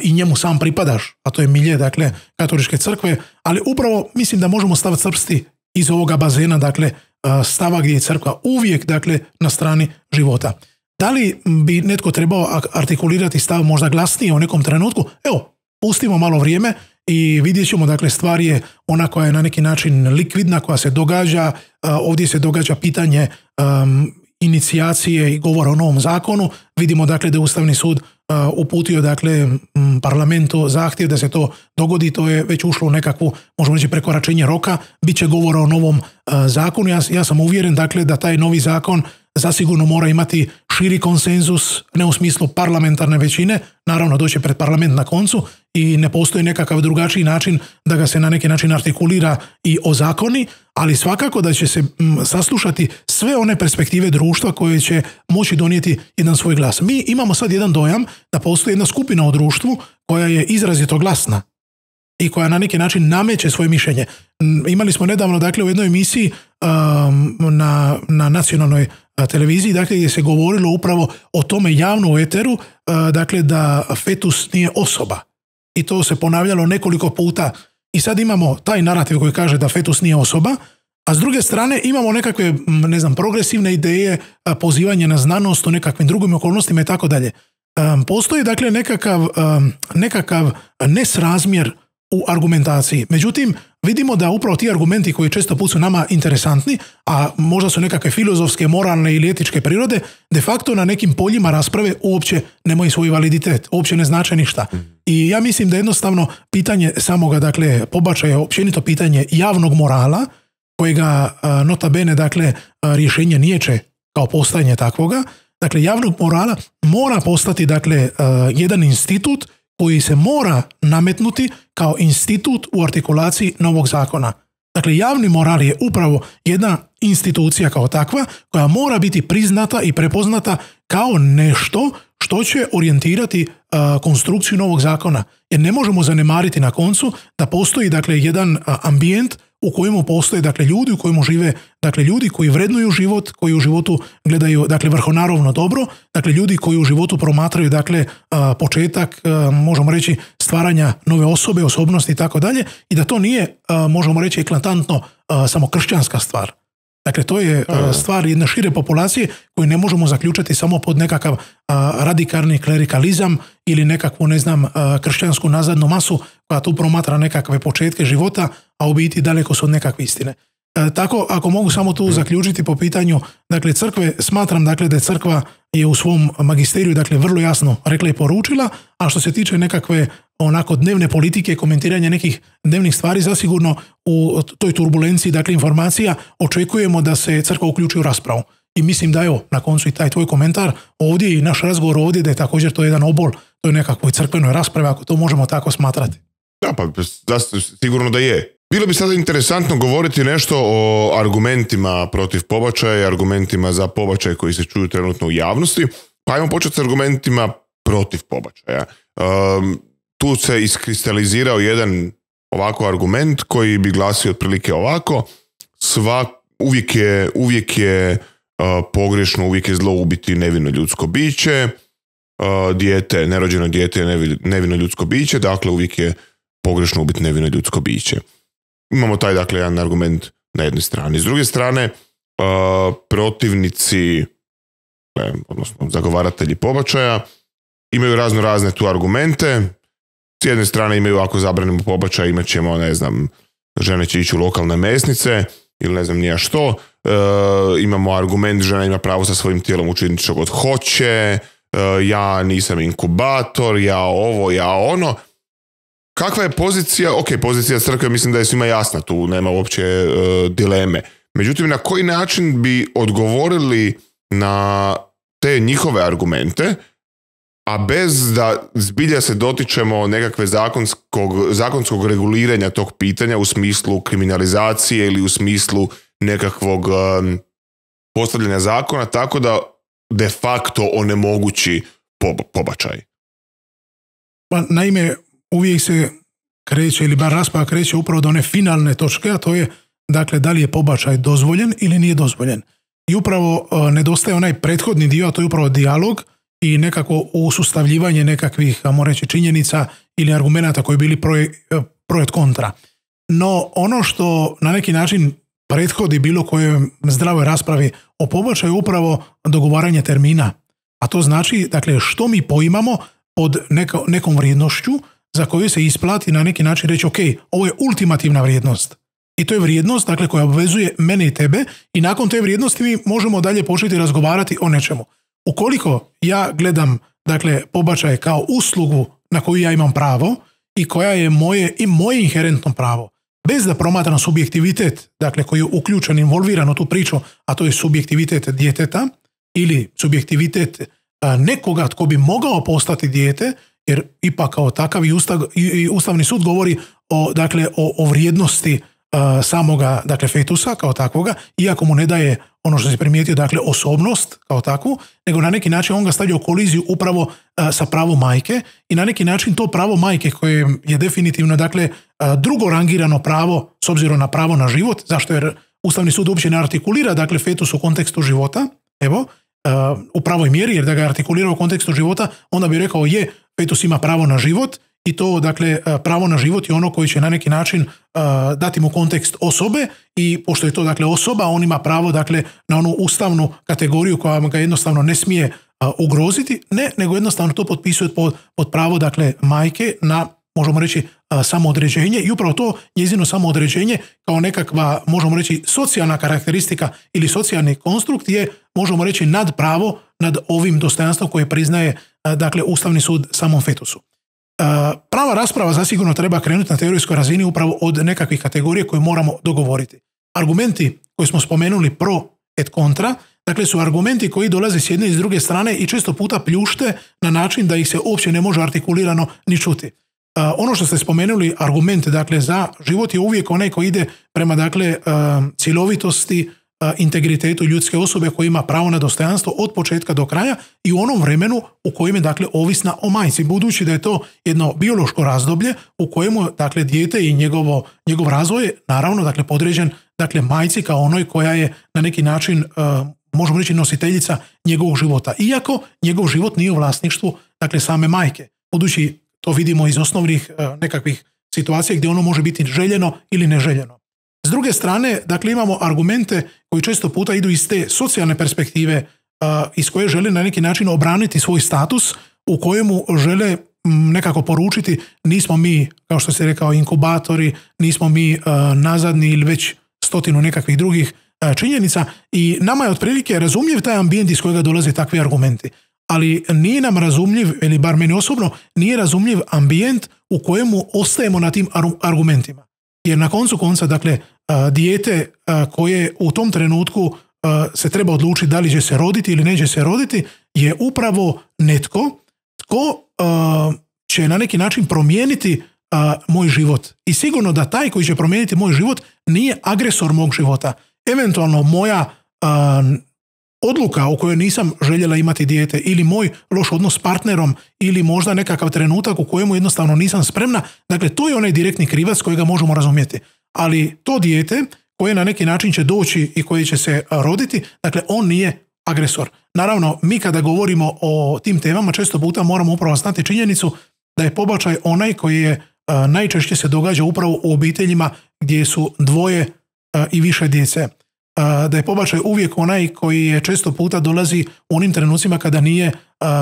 i njemu sam pripadaš, a to je milje, dakle, katoličke crkve, ali upravo mislim da možemo stav crpsti iz ovoga bazena, dakle, uh, stava gdje je crkva uvijek, dakle, na strani života. Da li bi netko trebao artikulirati stav možda glasnije u nekom trenutku? Evo, pustimo malo vrijeme i vidjet ćemo, dakle, stvar je ona koja je na neki način likvidna, koja se događa, uh, ovdje se događa pitanje um, inicijacije i govora o novom zakonu. Vidimo, dakle, da je Ustavni sud uh, uputio, dakle, m, parlamentu zahtjev da se to dogodi, to je već ušlo u nekakvu, možemo reći, prekoračenje roka, bit će govora o novom uh, zakonu. Ja, ja sam uvjeren, dakle, da taj novi zakon zasigurno mora imati širi konsenzus, ne u smislu parlamentarne većine, naravno doće pred parlament na koncu i ne postoji nekakav drugačiji način da ga se na neki način artikulira i ozakoni, ali svakako da će se m, saslušati sve one perspektive društva koje će moći donijeti jedan svoj glas. Mi imamo sad jedan dojam da postoji jedna skupina u društvu koja je izrazito glasna i koja na neki način nameće svoje mišljenje. Imali smo nedavno, dakle, u jednoj emisiji um, na, na nacionalnoj televiziji, dakle, gdje se govorilo upravo o tome javno u eteru, uh, dakle, da fetus nije osoba. I to se ponavljalo nekoliko puta. I sad imamo taj narativ koji kaže da fetus nije osoba, a s druge strane imamo nekakve, ne znam, progresivne ideje, pozivanje na znanost o nekakvim drugim okolnostima i tako dalje. Postoji, dakle, nekakav, nekakav nesrazmjer u argumentaciji. Međutim, vidimo da upravo ti argumenti koji često put su nama interesantni, a možda su nekakve filozofske, moralne ili etičke prirode, de facto na nekim poljima rasprave uopće nemaju svoj validitet, uopće ne znače ništa. I ja mislim da jednostavno pitanje samoga, dakle, pobačaja, općenito pitanje javnog morala, kojega nota bene, dakle, rješenje niječe kao postojanje takvoga, dakle, javnog morala mora postati, dakle, jedan institut koji se mora nametnuti kao institut u artikulaciji novog zakona. Dakle, javni moral je upravo jedna institucija kao takva koja mora biti priznata i prepoznata kao nešto što će orijentirati uh, konstrukciju novog zakona. Jer ne možemo zanemariti na koncu da postoji, dakle, jedan uh, ambijent u kojemu postoje, dakle, ljudi u kojemu žive, dakle, ljudi koji vrednuju život, koji u životu gledaju, dakle, vrhonarovno dobro, dakle, ljudi koji u životu promatraju, dakle, početak, možemo reći, stvaranja nove osobe, osobnosti i tako dalje, i da to nije, možemo reći, eklatantno samo kršćanska stvar. Dakle, to je stvar jedne šire populacije koju ne možemo zaključati samo pod nekakav radikalni klerikalizam ili nekakvu, ne znam, kršćansku nazadnu masu koja tu promatra nekakve početke života, a u biti daleko su od nekakve istine. E, tako, ako mogu samo tu zaključiti po pitanju, dakle, crkve, smatram, dakle, da je crkva je u svom magisteriju, dakle, vrlo jasno rekla i poručila, a što se tiče nekakve onako dnevne politike, komentiranja nekih dnevnih stvari, zasigurno u toj turbulenciji, dakle, informacija, očekujemo da se crkva uključi u raspravu. I mislim da, evo, na koncu i taj tvoj komentar ovdje i naš razgovor ovdje, da je također to jedan obol toj nekakvoj crkvenoj raspravi, ako to možemo tako smatrati. Da, pa sigurno da je. Bilo bi sada interesantno govoriti nešto o argumentima protiv pobačaja i argumentima za pobačaj koji se čuju trenutno u javnosti. Pa ajmo početi s argumentima protiv pobačaja. Um, tu se iskristalizirao jedan ovako argument koji bi glasio otprilike ovako. Sva, uvijek je, uvijek je uh, pogrešno, uvijek je zlo ubiti nevino ljudsko biće. Uh, dijete, nerođeno dijete je nevi, nevino ljudsko biće, dakle uvijek je pogrešno ubiti nevino ljudsko biće. Imamo taj, dakle, jedan argument na jednoj strani. S druge strane, uh, protivnici, ne, odnosno zagovaratelji pobačaja, imaju razno razne tu argumente. S jedne strane imaju, ako zabranimo pobačaj, imat ćemo, ne znam, žene će ići u lokalne mesnice ili ne znam nija što. Uh, imamo argument, žena ima pravo sa svojim tijelom učiniti što god hoće, uh, ja nisam inkubator, ja ovo, ja ono. Kakva je pozicija? Ok, pozicija crkve mislim da je svima jasna, tu nema uopće uh, dileme. Međutim, na koji način bi odgovorili na te njihove argumente, a bez da zbilja se dotičemo nekakve zakonskog, zakonskog reguliranja tog pitanja u smislu kriminalizacije ili u smislu nekakvog um, postavljanja zakona, tako da de facto onemogući pob- pobačaj? Pa, naime, uvijek se kreće, ili bar rasprava kreće upravo do one finalne točke, a to je, dakle, da li je pobačaj dozvoljen ili nije dozvoljen. I upravo uh, nedostaje onaj prethodni dio, a to je upravo dijalog i nekako usustavljivanje nekakvih, ajmo reći, činjenica ili argumenata koji bili proje, projet kontra. No, ono što na neki način prethodi bilo kojoj zdravoj raspravi o pobačaju je upravo dogovaranje termina. A to znači, dakle, što mi poimamo pod neka, nekom vrijednošću za koju se isplati na neki način reći, ok, ovo je ultimativna vrijednost. I to je vrijednost, dakle, koja obvezuje mene i tebe i nakon te vrijednosti mi možemo dalje početi razgovarati o nečemu. Ukoliko ja gledam, dakle, pobačaj kao uslugu na koju ja imam pravo i koja je moje i moje inherentno pravo, bez da promatram subjektivitet, dakle, koji je uključen, involviran u tu priču, a to je subjektivitet djeteta ili subjektivitet a, nekoga tko bi mogao postati dijete, jer ipak kao takav i, ustav, i, i Ustavni sud govori o, dakle, o, o vrijednosti a, samoga, dakle, fetusa kao takvoga, iako mu ne daje ono što se primijetio, dakle, osobnost kao takvu, nego na neki način on ga stavlja u koliziju upravo a, sa pravom majke i na neki način to pravo majke koje je definitivno, dakle, a, drugo rangirano pravo s obzirom na pravo na život, zašto jer Ustavni sud uopće ne artikulira, dakle, fetus u kontekstu života, evo, a, u pravoj mjeri, jer da ga artikulira u kontekstu života, onda bi rekao je, fetus ima pravo na život i to, dakle, pravo na život je ono koji će na neki način uh, dati mu kontekst osobe i pošto je to, dakle, osoba, on ima pravo, dakle, na onu ustavnu kategoriju koja ga jednostavno ne smije uh, ugroziti, ne, nego jednostavno to potpisuje pod, pod pravo, dakle, majke na, možemo reći, uh, samoodređenje i upravo to njezino samoodređenje kao nekakva, možemo reći, socijalna karakteristika ili socijalni konstrukt je, možemo reći, nad pravo nad ovim dostojanstvom koje priznaje, uh, dakle, Ustavni sud samom fetusu. Prava rasprava zasigurno treba krenuti na teorijskoj razini upravo od nekakvih kategorija koje moramo dogovoriti. Argumenti koje smo spomenuli pro et kontra, dakle, su argumenti koji dolaze s jedne i s druge strane i često puta pljušte na način da ih se uopće ne može artikulirano ni čuti. Ono što ste spomenuli, argument, dakle, za život je uvijek onaj koji ide prema, dakle, cjelovitosti, integritetu ljudske osobe koja ima pravo na dostojanstvo od početka do kraja i u onom vremenu u kojem je, dakle, ovisna o majci, budući da je to jedno biološko razdoblje u kojemu, dakle, dijete i njegovo, njegov razvoj je naravno, dakle, podređen, dakle, majci kao onoj koja je na neki način, uh, možemo reći, nositeljica njegovog života. Iako njegov život nije u vlasništvu, dakle, same majke. Budući to vidimo iz osnovnih uh, nekakvih situacija gdje ono može biti željeno ili neželjeno. S druge strane, dakle, imamo argumente koji često puta idu iz te socijalne perspektive uh, iz koje žele na neki način obraniti svoj status u kojemu žele m, nekako poručiti nismo mi, kao što se rekao, inkubatori, nismo mi uh, nazadni ili već stotinu nekakvih drugih uh, činjenica i nama je otprilike razumljiv taj ambijent iz kojega dolaze takvi argumenti. Ali nije nam razumljiv, ili bar meni osobno, nije razumljiv ambijent u kojemu ostajemo na tim ar- argumentima. Jer na koncu konca, dakle, dijete koje u tom trenutku se treba odlučiti da li će se roditi ili neće se roditi je upravo netko tko će na neki način promijeniti moj život. I sigurno da taj koji će promijeniti moj život nije agresor mog života. Eventualno moja odluka u kojoj nisam željela imati dijete ili moj loš odnos s partnerom ili možda nekakav trenutak u kojemu jednostavno nisam spremna, dakle, to je onaj direktni krivac kojega možemo razumjeti. Ali to dijete koje na neki način će doći i koje će se roditi, dakle, on nije agresor. Naravno, mi kada govorimo o tim temama često puta moramo upravo znati činjenicu da je pobačaj onaj koji je a, najčešće se događa upravo u obiteljima gdje su dvoje a, i više djece. A, da je pobačaj uvijek onaj koji je često puta dolazi u onim trenucima kada nije,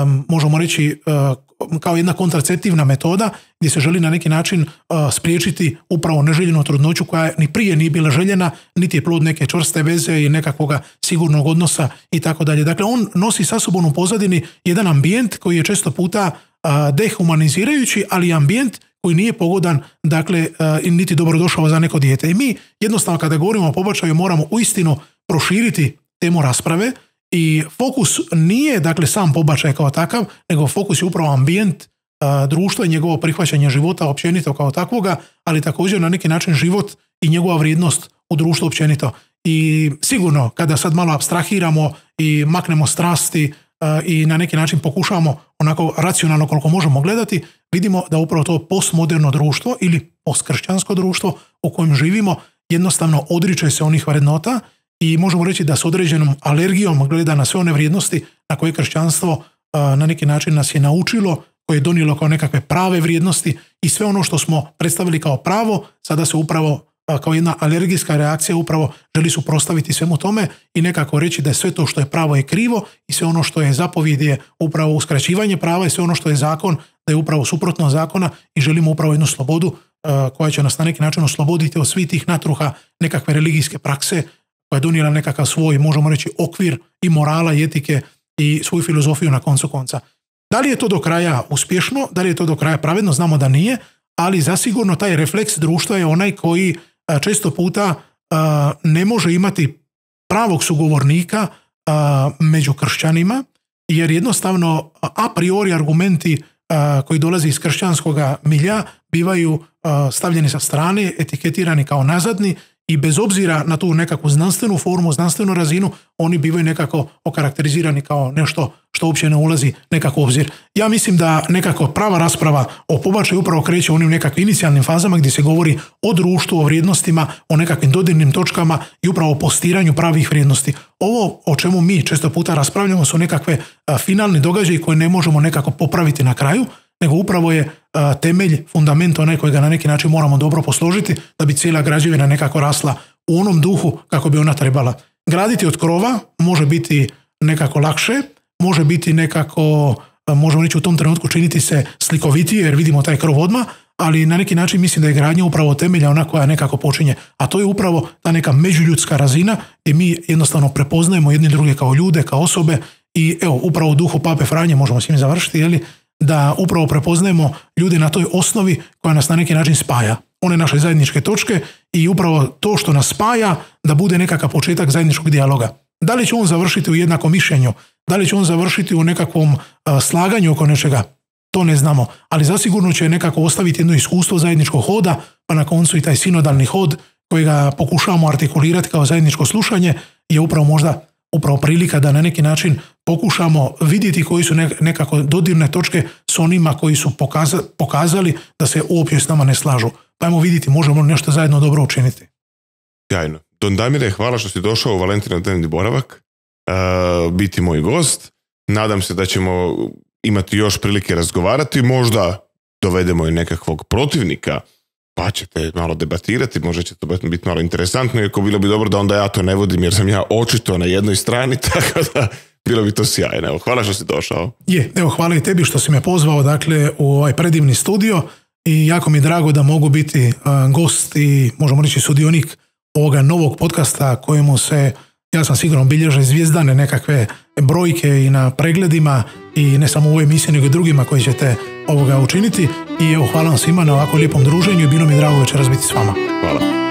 um, možemo reći, uh, kao jedna kontraceptivna metoda gdje se želi na neki način uh, spriječiti upravo neželjenu trudnoću koja ni prije nije bila željena, niti je plod neke čvrste veze i nekakvog sigurnog odnosa i tako dalje. Dakle, on nosi sa sobom u pozadini jedan ambijent koji je često puta uh, dehumanizirajući, ali ambijent koji nije pogodan, dakle, uh, niti dobrodošao za neko dijete. I mi jednostavno kada govorimo o pobačaju moramo uistinu proširiti temu rasprave i fokus nije, dakle, sam pobačaj kao takav, nego fokus je upravo ambijent, uh, društva i njegovo prihvaćanje života općenito kao takvoga, ali također na neki način život i njegova vrijednost u društvu općenito. I sigurno kada sad malo apstrahiramo i maknemo strasti i na neki način pokušavamo onako racionalno koliko možemo gledati, vidimo da upravo to postmoderno društvo ili postkršćansko društvo u kojem živimo jednostavno odriče se onih vrednota i možemo reći da s određenom alergijom gleda na sve one vrijednosti na koje kršćanstvo na neki način nas je naučilo, koje je donijelo kao nekakve prave vrijednosti i sve ono što smo predstavili kao pravo, sada se upravo kao jedna alergijska reakcija upravo želi suprotstaviti svemu tome i nekako reći da sve to što je pravo je krivo i sve ono što je zapovjed je upravo uskraćivanje prava i sve ono što je zakon da je upravo suprotno zakona i želimo upravo jednu slobodu koja će nas na neki način osloboditi od svih tih natruha nekakve religijske prakse koja je donijela nekakav svoj, možemo reći, okvir i morala i etike i svoju filozofiju na koncu konca. Da li je to do kraja uspješno, da li je to do kraja pravedno, znamo da nije, ali zasigurno taj refleks društva je onaj koji često puta ne može imati pravog sugovornika među kršćanima, jer jednostavno a priori argumenti koji dolaze iz kršćanskog milja bivaju stavljeni sa strane, etiketirani kao nazadni i bez obzira na tu nekakvu znanstvenu formu, znanstvenu razinu, oni bivaju nekako okarakterizirani kao nešto što uopće ne ulazi nekako u obzir. Ja mislim da nekako prava rasprava o pobačaju upravo kreće u onim nekakvim inicijalnim fazama gdje se govori o društvu, o vrijednostima, o nekakvim dodirnim točkama i upravo o postiranju pravih vrijednosti. Ovo o čemu mi često puta raspravljamo su nekakve finalni događaji koje ne možemo nekako popraviti na kraju, nego upravo je a, temelj, fundament onaj kojega na neki način moramo dobro posložiti da bi cijela građevina nekako rasla u onom duhu kako bi ona trebala. Graditi od krova može biti nekako lakše, može biti nekako, a, možemo reći u tom trenutku činiti se slikovitije jer vidimo taj krov odmah, ali na neki način mislim da je gradnja upravo temelja ona koja nekako počinje. A to je upravo ta neka međuljudska razina gdje mi jednostavno prepoznajemo jedni druge kao ljude, kao osobe i evo, upravo u duhu Pape Franje možemo s njim završiti, jeli, da upravo prepoznajemo ljude na toj osnovi koja nas na neki način spaja. One naše zajedničke točke i upravo to što nas spaja da bude nekakav početak zajedničkog dijaloga. Da li će on završiti u jednakom mišljenju, da li će on završiti u nekakvom a, slaganju oko nečega, to ne znamo, ali zasigurno će nekako ostaviti jedno iskustvo zajedničkog hoda, pa na koncu i taj sinodalni hod kojega pokušavamo artikulirati kao zajedničko slušanje je upravo možda upravo prilika da na neki način pokušamo vidjeti koji su nekako dodirne točke s onima koji su pokaza, pokazali da se uopće s nama ne slažu. Pa ajmo vidjeti možemo nešto zajedno dobro učiniti. Sjajno. Don Damire, hvala što si došao u Valentinov dnevni boravak, uh, biti moj gost. Nadam se da ćemo imati još prilike razgovarati, možda dovedemo i nekakvog protivnika, pa ćete malo debatirati, možda će to biti malo interesantno, iako bilo bi dobro da onda ja to ne vodim, jer sam ja očito na jednoj strani, tako da bilo bi to sjajno. Evo, hvala što si došao. Je, evo, hvala i tebi što si me pozvao dakle, u ovaj predivni studio i jako mi je drago da mogu biti uh, gost i možemo reći sudionik ovoga novog podcasta kojemu se, ja sam sigurno, bilježe zvijezdane nekakve brojke i na pregledima i ne samo u ovoj emisiji nego i drugima koji ćete ovoga učiniti i evo, hvala vam svima na ovako lijepom druženju i bilo mi je drago večeras biti s vama. Hvala.